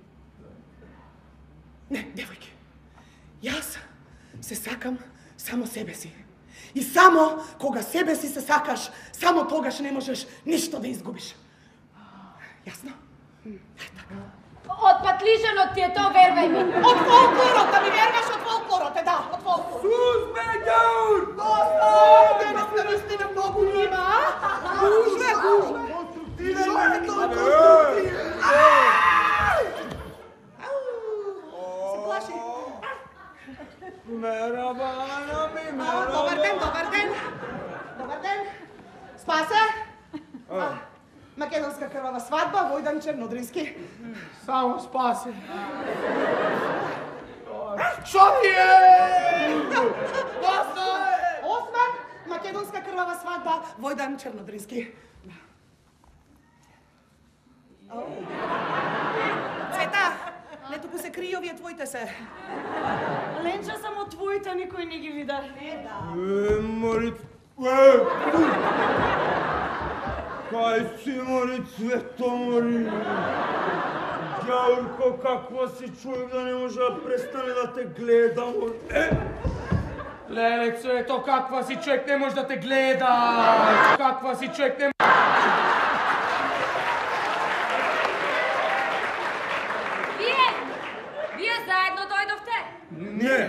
Не, девојки, јас се сакам само себе си. И само кога себе си се сакаш, само тогаш не можеш ништо да изгубиш. Јасно? Од патлижанот ти е то, вервај ми. Од фолклорот, да ми верваш од фолклорот, е да, од фолклорот. Сузме ѓаур! Доста! Денес сте наистина многу нима, а? Гужве, гужве! Шо е тоа? Се плаши. Мерабана ми, А, мерабана. Добар ден, добар ден. Добар ден. Спасе? А, Македонска крвава свадба, Војдан Чернодрински. Само спаси. Шо ти е? Осман, Македонска крвава свадба, Војдан Чернодрински. Цвета, не туку се кри, овие твоите се. Ленче, само твоите никој не ги вида. Е, мори... Е! Кај си, мори, Цвето, мори? Ѓаурко, каква си човек да не може да престане да те гледа, мори? Е! Леле, Цвето, каква си човек не може да те гледа? Каква си човек не... Вие, вие заедно дојдовте? Не!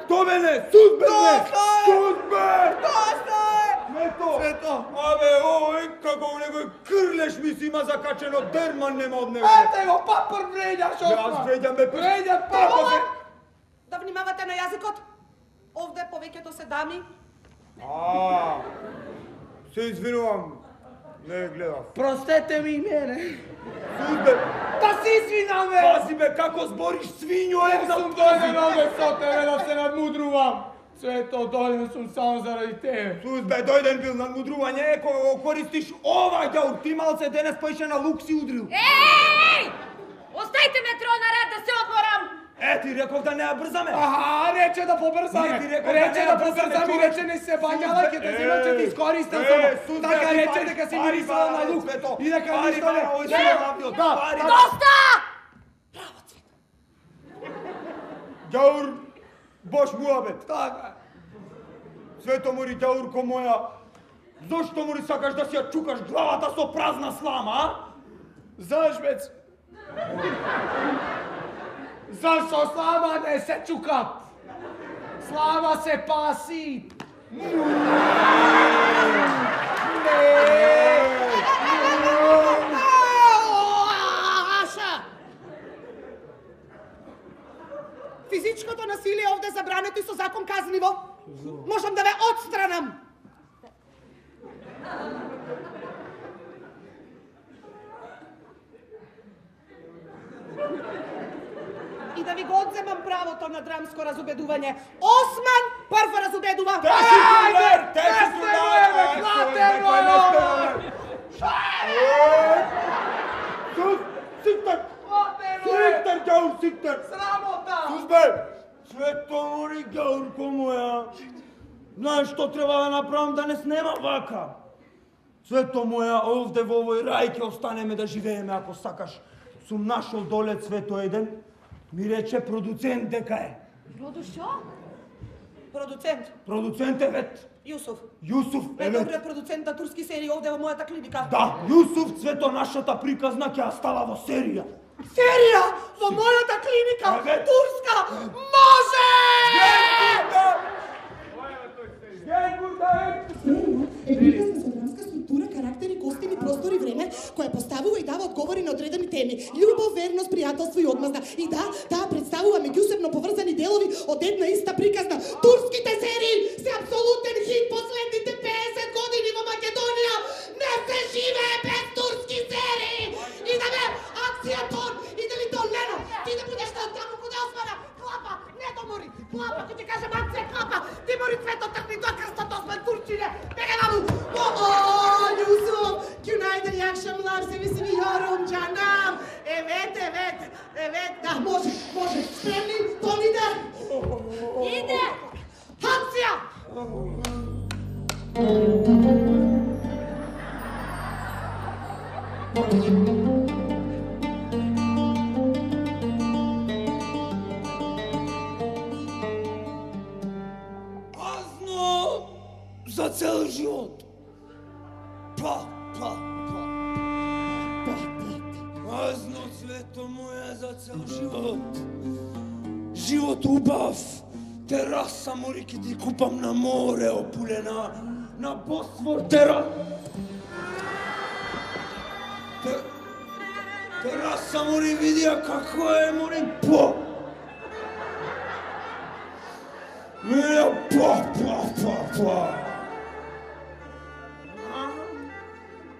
То мене! Сузбе не! Сузбе! Доста е! Цвето! Цвето! Абе, ој, како у некој крлеш ми си има закачено, дерман нема од него. Ете го, папар вреѓаш, Јас Осман! вреѓам бе, Вреѓа папа папа! бе! Да внимавате на јазикот. Овде повеќето се дами. А, се извинувам, не гледав. Простете ми и мене. Сузбе, Та се извинам, бе! пази бе, како збориш свињо, е за дојден овде со тебе да се надмудрувам. Свето, дојден сум само заради тебе. Сузбе, дојден бил надмудрување, е, кога го користиш ова ѓаур, ти малце денес поише на лук си удрил. Еј! Оставите ме тро на ред да се одморам! Е, ти реков да не ја брзаме. Аха, рече да побрзаме. Не, ти реков Рече да да не ја брзаме, побрзаме, човече. рече не се бањала, ќе те земам, ќе ти искористам Е, само. Сузбе, Така ти рече пари, дека си пари, мирисала на пари, лук. Цвето. И дека Пари, ништо пари, не... овој Да, се лавио, да, пари. да. Доста! Ѓаур, бош муабет. Така. Свето мори ѓаур ко моја. Зошто мори сакаш да си ја чукаш главата со празна слама, а? Заш, бец? Зашто слама не се чукат? Слама се паси. Аша! Физичкото насилие овде забрането и со закон казливо. Можам да ве отстранам. И да ви го одземам правото на драмско разубедување. Осман прво разубедува. Те си тулер, те си тулер. Сиктер! Сиктер, ѓаур, сиктер! Срамота! Сузбе! Свето мори ѓаур ко моја. Знаеш што треба да направам да не снема вака? Свето моја, овде во овој рај ќе останеме да живееме ако сакаш. Сум нашол доле Цвето еден. Ми рече продуцент дека е. Родо шо? Продуцент. Продуцент е вет. Јусуф. Јусуф е Е, вет. добре, продуцент на турски серии овде во мојата клиника. Да, Јусуф Цвето нашата приказна ќе ја става во серија. Серија во мојата клиника. Еве. Турска. Може! Е приказна со драмска структура, карактери, костими, простор и време, која поставува и дава одговори на одредени теми. Љубов, верност, пријателство и одмазда. И да, таа представува меѓусебно поврзани делови од една иста приказна. Турските серии се апсолутен хит последните песет години во Македонија. Не се живее без турски серии. И да бе, акција тон, и да ли то Лено, ти да будеш на таму куде Османа. Клапа, не до мори. Клапа, ко ти кажем акција клапа. Ти мори Цвето тргни до крстот Осман Турчине. Бега наму. О, о, Јусуф, günaydın, iyi akşamlar, sevi sevi yorum canım. Evet, evet, evet. Da, može, može. Spremni, ton ide. Ide! Akcija! Празно за цел живот. Па, па, па. Па, па. Празно Цвето моја за цел живот. Живот убав. Тераса мори ке ти купам на море опулена. На Босфор тера. Те... Тераса мори видија како е мори по. Мира па, па, па, па.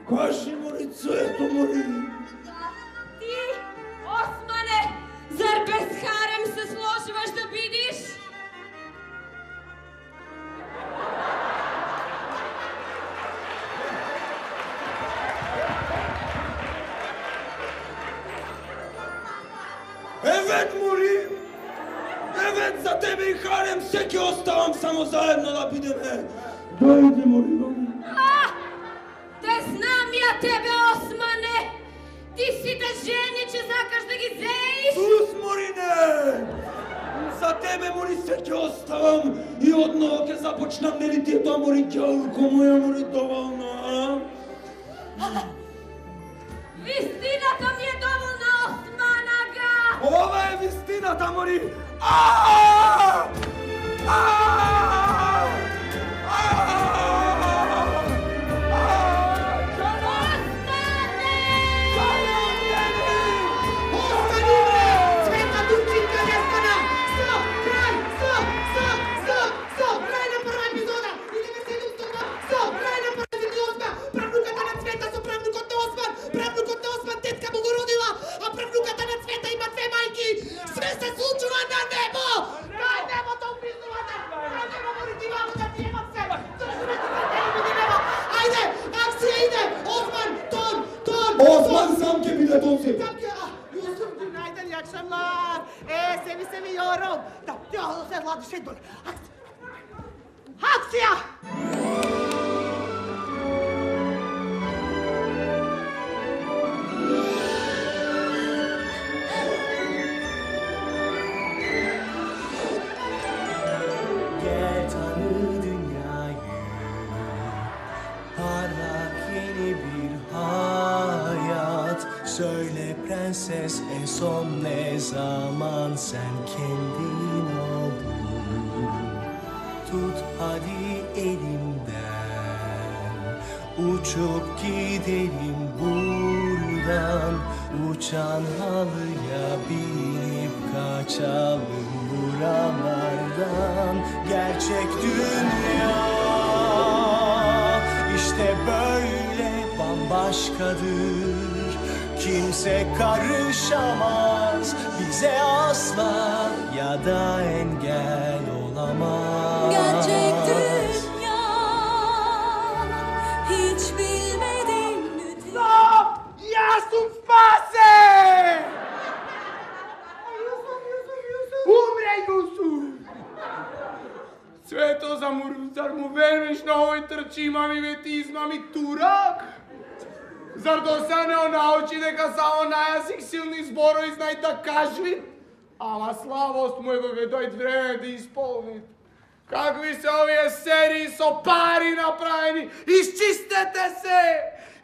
Кажи мори Цвето мори. Ти, Османе, зар без харем се сложиваш да бидиш? Евет мори. Евет за тебе и харем се ќе оставам само заедно да бидеме. Дојде мори, дојде. А, те знам ја тебе, Османе! Ти си да жени, че сакаш да ги зеиш? Сус, Морине! За тебе, мори, се ќе оставам и одново ќе започнам, нели ти е тоа, мори, ѓаурко моја, мори, доволно, а? Вистината ми е доволна, Османага! Ова е вистината, мори! Ааа! Ааа! Цвета Турчинка не стана! Стоп! Крај! Стоп! Стоп! Стоп! да ти имам се! Држи ме тука, не ми не нема! Ајде, акција иде! Осман, тон, тон! Осман сам ќе биде тон си! Там ќе... Јусуф, günaydın, iyi akşamlar. Ee, seni seviyorum. Da, ya, sen lan şey dur. Akcija! Gel tanı dünyayı, parlak yeni bir hayat. Söyle prenses, en son ne zaman sen kendin oldun? Tut hadi elimden, uçup gidelim buradan. Uçan halıya binip kaçalım buralardan. Gerçek dünya işte böyle bambaşkadır. Kimse karışamaz bize asla, ya da engel olamaz. Gerçek dünya hiç bilmediğin müthiş. No! Ja sam spasen! Umre Jusuf! Sve to za mu, zar mu veruješ na ovoj trči, mami vetizma mi turak? Zar до сега не научи дека само најасик силни зборови знај да кажи? Ама славост му е кога дојде време да исполни. Какви се овие серии со пари направени? Исчистете се!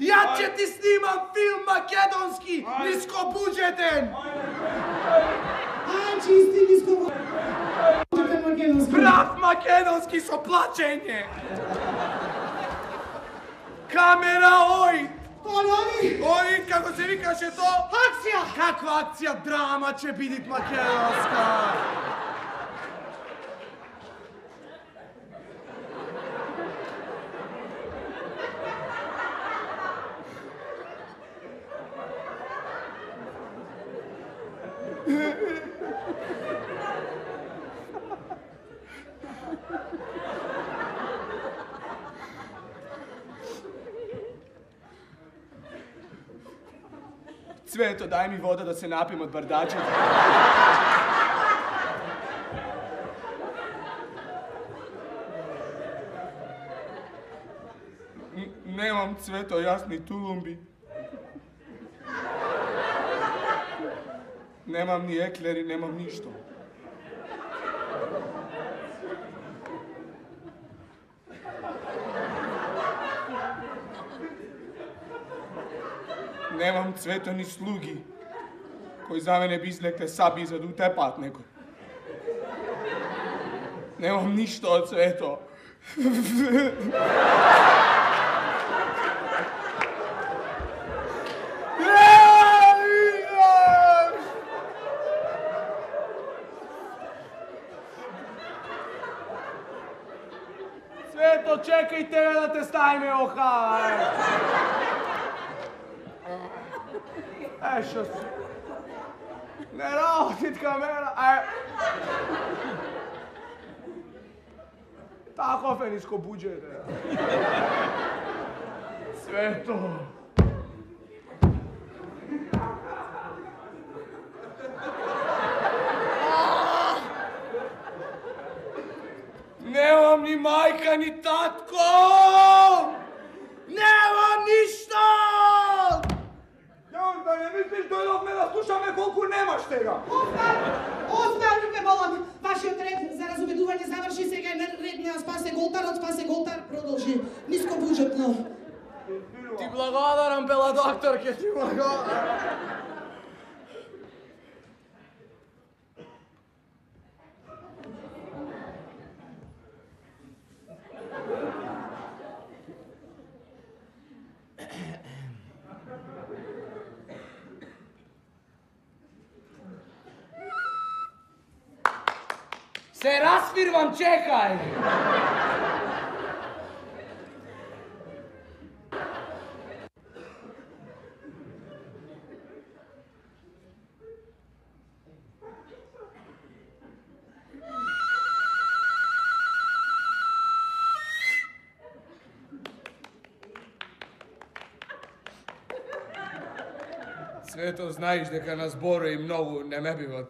Ја ќе ти снимам филм македонски, нискобуџетен! Ај, чисти нискобуџетен македонски. Прав македонски со плачење! Камера, ој! Онови! Ој, како се викаше то? Акција! Каква акција? Драма ќе бидит македонска! Цвето, дај ми вода да се напием од бардачето. Немам, Цвето, јас ни тулумби. Немам ни еклери, немам ништо. Немам, Цвето, ни слуги, кои за мене би излекле саби за да утепаат некој. Немам ништо од Цвето. Цвето, чекај тебе да те ставиме оха, Е, шо си? Не работит камера, е... Таков е ниско буџет, е. Цвето. Немам ни мајка, ни татко! Немам ништо! Да не мислиш, дојдовме да слушаме колку немаш тега. Оскар! Оскар, ме молам! Вашиот ред за разубедување заврши, сега е ред на спасе голтарот, спасе голтар, продолжи. Ниско буџетно. Ти благодарам, бела докторке, ти благодарам. Се расфирвам, чекај! Свето, знаеш дека на зборови многу не ме биват.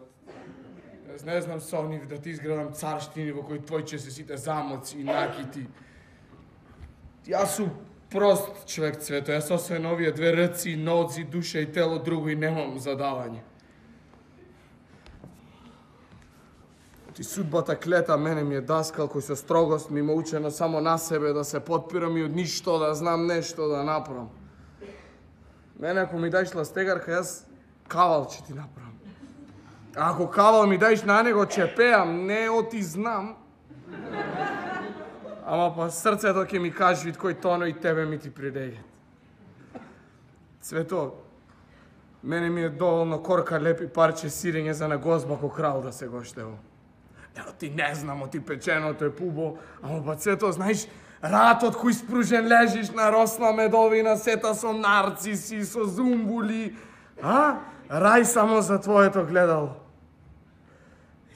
Јас не знам со нив да ти изградам царштини во кои твојче се сите замоци и накити. Јас сум прост човек, Цвето. Јас освен овие две рци, ноци, душа и тело, друго и немам задавање. Ти судбата клета мене ми е даскал кој со строгост ми ме учено само на себе да се подпирам и од ништо да знам нешто да направам. Мене ако ми даеш ластегарка, јас кавал ќе ти направам. А ако кавал ми даеш на него, ќе пеам, не оти знам. Ама па срцето ќе ми кажи вид кој тоно и тебе ми ти придеѓат. Цвето, мене ми е доволно корка лепи парче сирење за на гозба ко крал да се гоштево. Ево ти не знам, оти печеното е пубо, ама па Цвето, знаеш, ратот кој спружен лежиш на росна медовина, сета со нарциси, со зумбули, а? Рај само за твоето гледало.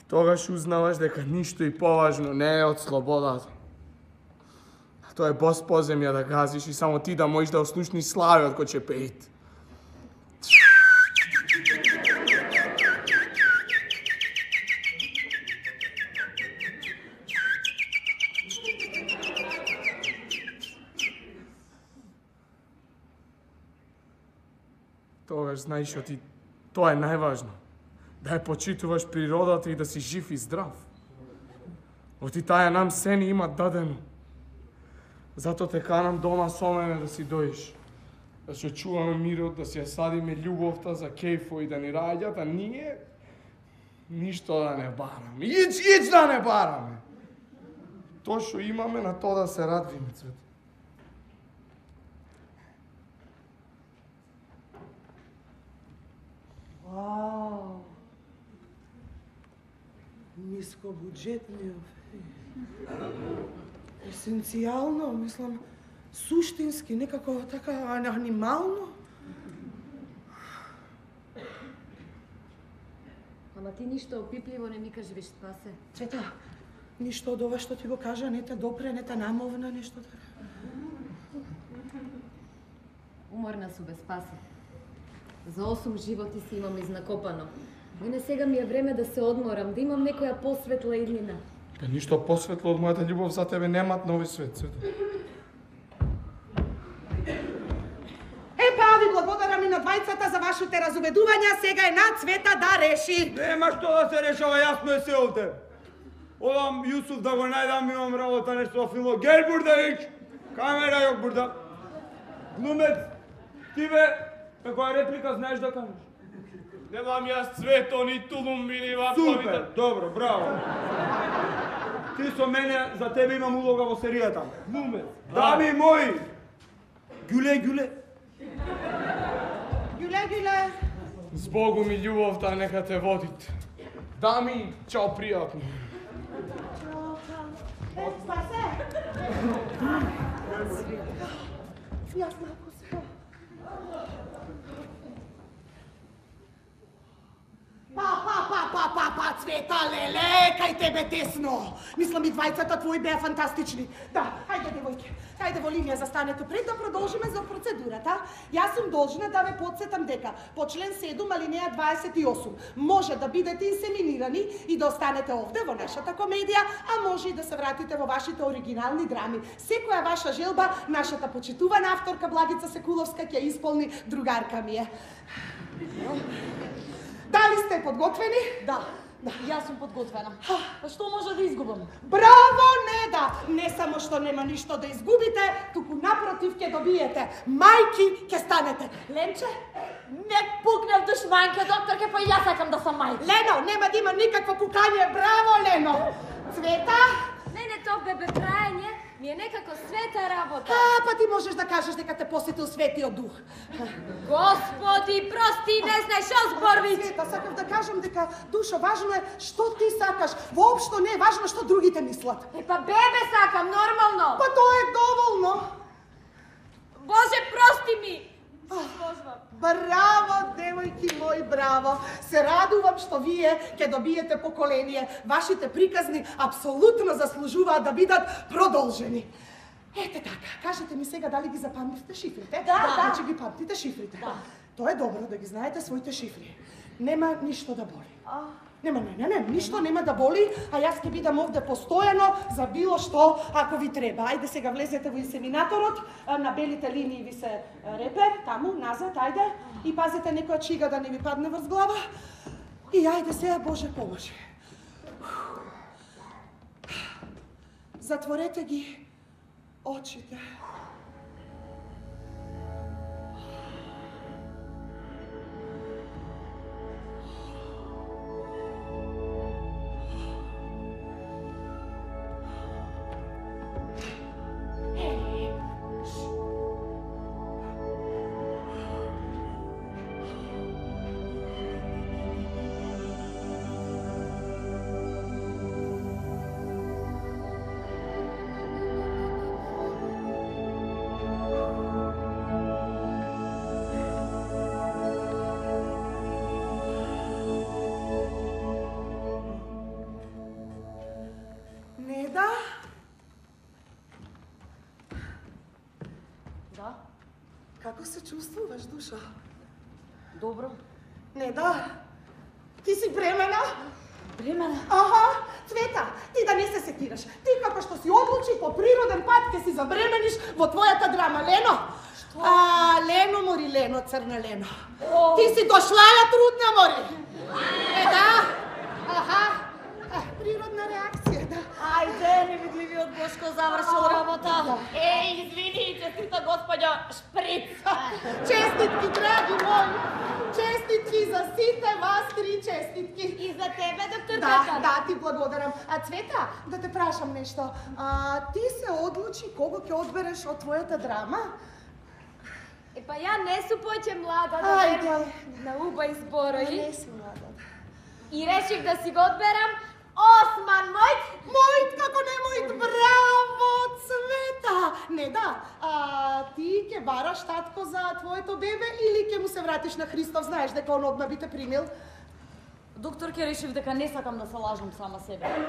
И тогаш узнаваш дека ништо и поважно не е од слободата. Тоа е бос поземја да газиш и само ти да можеш да ослушниш славиот кој ќе пеит. Тогаш знаеш оти, тоа е најважно. Да ја почитуваш природата и да си жив и здрав. Оти таја нам се ни има дадено. Зато те канам дома со мене да си дојдеш. Да се чуваме мирот, да си ја садиме љубовта за кејфо и да ни раѓат, а ние ништо да не бараме. Ич, ич да не бараме. Тоа што имаме, на тоа да се радвиме, Цвето. Вау! Нискобуџетни есенцијално, мислам, суштински, некако така анимално. Ама ти ништо опипливо не ми кажи, виж, Спасе. Цвета, ништо од ова што ти го кажа, не те допре, не те намовна, нешто така. Уморна су, бе, Спасе. За осум животи си имам изнакопано. Мене сега ми е време да се одморам, да имам некоја посветла иднина. Па ништо посветло од мојата љубов за тебе немат нови свет, Цвето. Е, па, ви благодарам и на двајцата за вашите разубедувања, сега е на Цвета да реши. Нема што да се решава, јасно е се овде. Одам Јусуф да го најдам, имам работа нешто во филмо. Гел Бурдавич, камера јок Бурда. Глумец, ти бе, каква реплика знаеш да кажеш? Немам јас Цвето, ни тулумби, ни вапковите. Супер, добро, браво. Ти со мене, за тебе имам улога во серијата. Глумец. Дами мои, гюле, гюле. Гюле, гюле. Збогу ми љубовта нека те водит. Дами, чао, пријатно. Е, Спасе! Јас малку се. Па, па, па, па, па, па, Цвета, леле, кај тебе тесно. Мислам и двајцата твои беа фантастични. Да, хајде, девојке, хајде во линија застанете пред да продолжиме за процедурата. Јас сум должна да ве подсетам дека по член седум алинеја дваесет и осум може да бидете инсеминирани и да останете овде во нашата комедија, а може и да се вратите во вашите оригинални драми. Секоја ваша желба, нашата почитувана авторка Благица Секуловска ќе исполни, другарка ми е. Дали сте подготвени? Да, да, јас сум подготвена. Па што може да изгубам? Браво, Неда! Не само што нема ништо да изгубите, туку напротив ќе добиете. Мајки ќе станете. Ленче? Не пукнев душманке, докторке, па и јас сакам да сам мајка. Лено, нема да има никакво пукање. Браво, Лено! Цвета? Мене тоа бебе прајање ми е некако света работа. А, па ти можеш да кажеш дека те посетил Светиот Дух. Господи, прости, не знаеш што зборвиш. Света, сакав да кажам дека, Душо, важно е што ти сакаш. Воопшто не е важно што другите мислат. Е, па бебе сакам, нормално. Па тоа е доволно. Боже, прости ми. Браво, девојки мои, браво! Се радувам што вие ќе добиете поколение. Вашите приказни апсолутно заслужуваат да бидат продолжени. Ете така, кажете ми сега дали ги запамтивте шифрите? Да, да. Значи ги памтите шифрите. Да. Тоа е добро да ги знаете своите шифри. Нема ништо да боли. Нема, не, не, не, ништо нема да боли, а јас ќе бидам овде постојано за било што ако ви треба. Ајде сега влезете во инсеминаторот, на белите линии ви се репер, таму, назад, ајде, и пазите некоја чига да не ви падне врз глава. И ајде сега, Боже поможи. Затворете ги очите. Како се чувствуваш, душа? Добро. Не, да. Ти си бремена? Бремена? Аха, Цвета, ти да не се сетираш. Ти како што си одлучи по природен пат ќе си забремениш во твојата драма, Лено. Што? А, Лено, мори, Лено, црна Лено. О. Ти си дошлаја трудна, мори. Е, да. Аха. Природна реакција, да. Ајде, невидливиот Бошко завршил работа. Еј, извини, честита господја Шприц. Честитки, драги мои. Честитки за сите вас три честитки. И за тебе, доктор Да, Ката. да, ти благодарам. А Цвета, да те прашам нешто. А, ти се одлучи кого ќе одбереш од твојата драма? Е, па ја не су поќе млада да Ајде. верам на уба изборови. Не си млада. И реших да си го одберам Осман мојт. Мојт, како не мојт, браво, Цвета! Не, да, а ти ќе бараш татко за твоето бебе или ќе му се вратиш на Христов? Знаеш дека он одма би те примил? Докторке, решив дека не сакам да се лажам сама себе.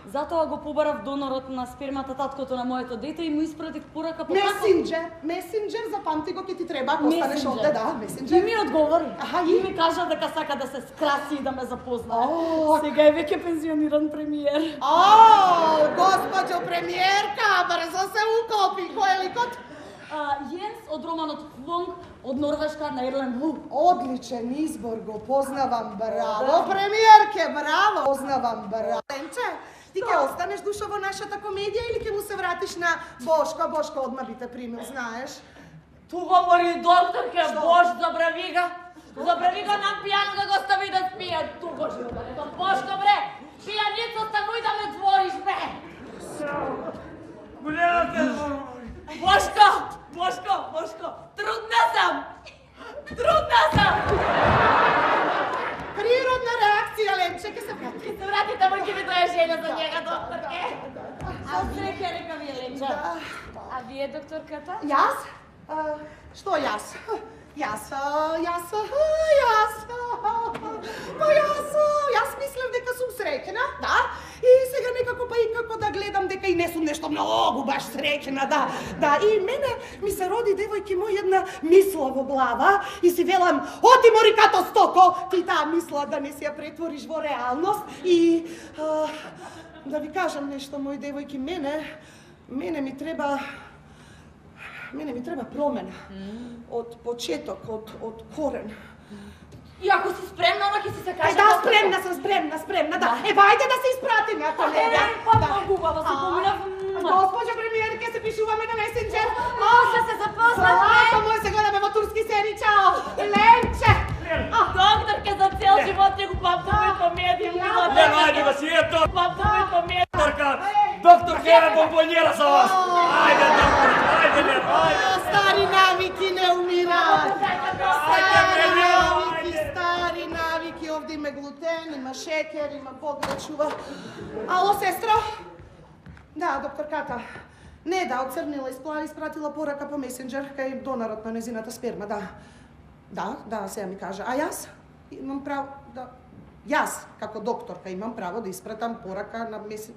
Затоа го побарав донорот на спермата таткото на моето дете и му испратих порака по Месенџер, месенџер, запамти го, ќе ти треба, ако останеш овде, да, месенџер. И ми одговори. Аха, и ми кажа дека сака да се скраси и да ме запознае. О, сега е веќе пензиониран премиер. О, госпоđo премиерка, брзо се укопи, кој е ликот? А, Јенс од романот Флонг од Норвешка на Ерлен Лу. Одличен избор, го познавам, браво, премиерке, браво, познавам, браво. Ленче, ти ќе останеш душа во нашата комедија или ќе му се вратиш на Бошко? Бошко одма би те примил, знаеш? Ту говори докторке, Бош, забрави ga. Забрави ga нам пијан да го стави да спие. Ту го живе, Бошко, бре, пијаница, стануј да ме двориш, бре. Гледате, Бошко, Бошко, Бошко, трудна сам. Трудна сам. Природна реакција, Ленче, ќе се врати. Ќе се врати, тамо ќе ви дое жена за njega, докторке. А среќа, река ви, Ленче. А вие, докторката? Јас? А, што јас? Јас, а, јас, а, јас, па јас, а, јас мислев дека сум среќна, да, и сега некако па и како да гледам дека и не сум нешто многу баш среќна, да, да, и мене ми се роди девојки мој една мисла во глава и си велам, оти мори като стоко, ти таа мисла да не си ја претвориш во реалност и а, да ви кажам нешто, мои девојки, мене, мене ми треба Мене ми треба промена. Од почеток, од, од корен. И ако си спремна, она ќе си се каже... Е, да, спремна сум, спремна, спремна, да. Е, ајде да се испратиме, ако не, да. Е, па многу убаво се поминав. Госпоđo премиерке, се пишуваме на месенџер. Може се запознаме. Злато мој, се гледаме во турски серии, чао. Ленче. Докторке, за цел живот ќе го памтам и комедија. Лено, ајде да си ето! Памтам и комедија. Докторка, докторка, ева бомбонјера за вас! Ајде, доктор, ајде, Лено, ајде! Стари навики не умираат. Стари навики, стари навики. Овде има глутен, има шекер, има Бог да чува. Ало, сестро? Да, докторката. Не, да, оцрнила, испла, испратила порака по месенџер кај донорот на незината сперма, да. Да, да, сега ми кажа. А јас имам право да... Јас, како докторка, имам право да испратам порака на месен...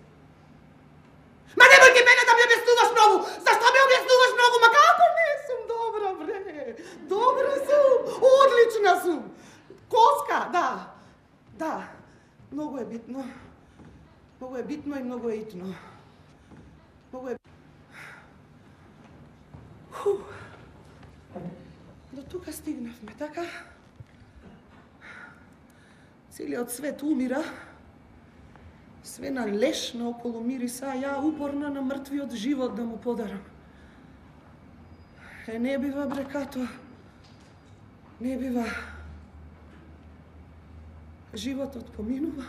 Ма немој ти мене да ми објаснуваш многу! Зашто ми објаснуваш многу? Ма како не сум добра, бре? Добра сум! Одлично! Тажна сум. Коска, да. Да. Многу е битно. Многу е битно и многу е итно. Многу е... Ху. До тука стигнавме, така? Целиот свет умира. Све на леш наоколу мириса, а ја упорна на мртвиот живот да му подарам. Е, не бива, брекато. Не бива. Животот поминува.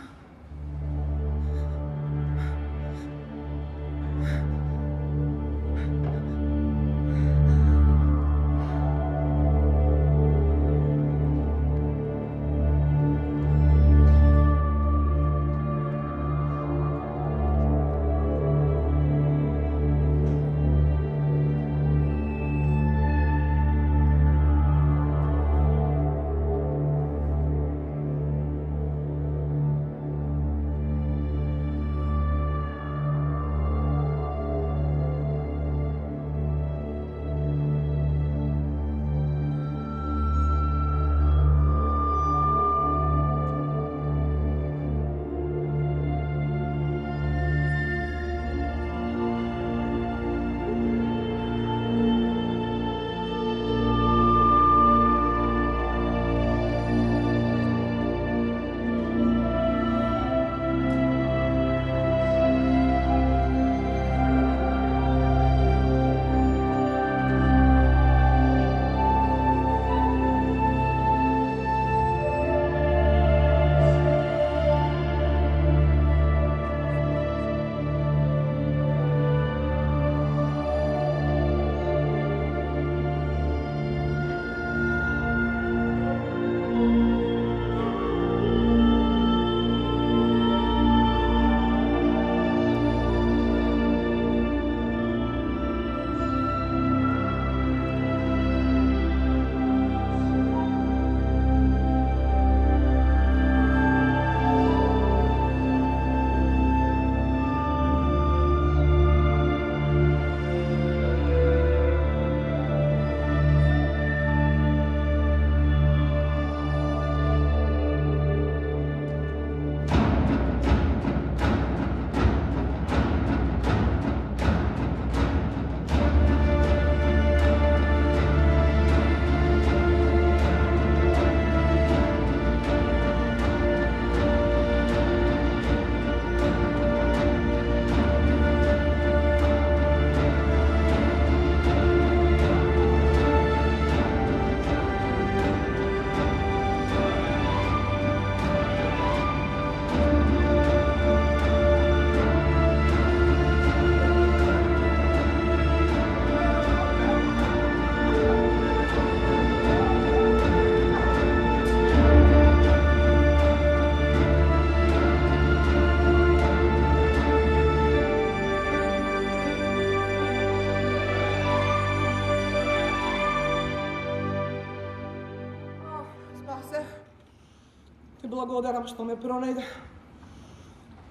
Ти благодарам што ме пронајде.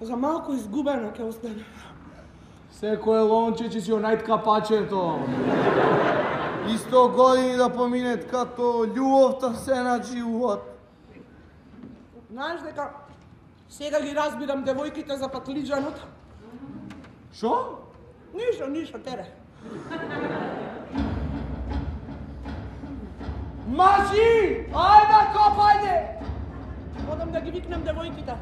За малку изгубено ќе остане. Секој лонче си онајтка пачето. И сто години да поминет като љубовта се на живот. Знаеш дека сега ги разбирам девојките за патлиџанот. Шо? Ништо, ништо, тере. Мажи! Ајде, копајде! Одам да ги викнам девојките.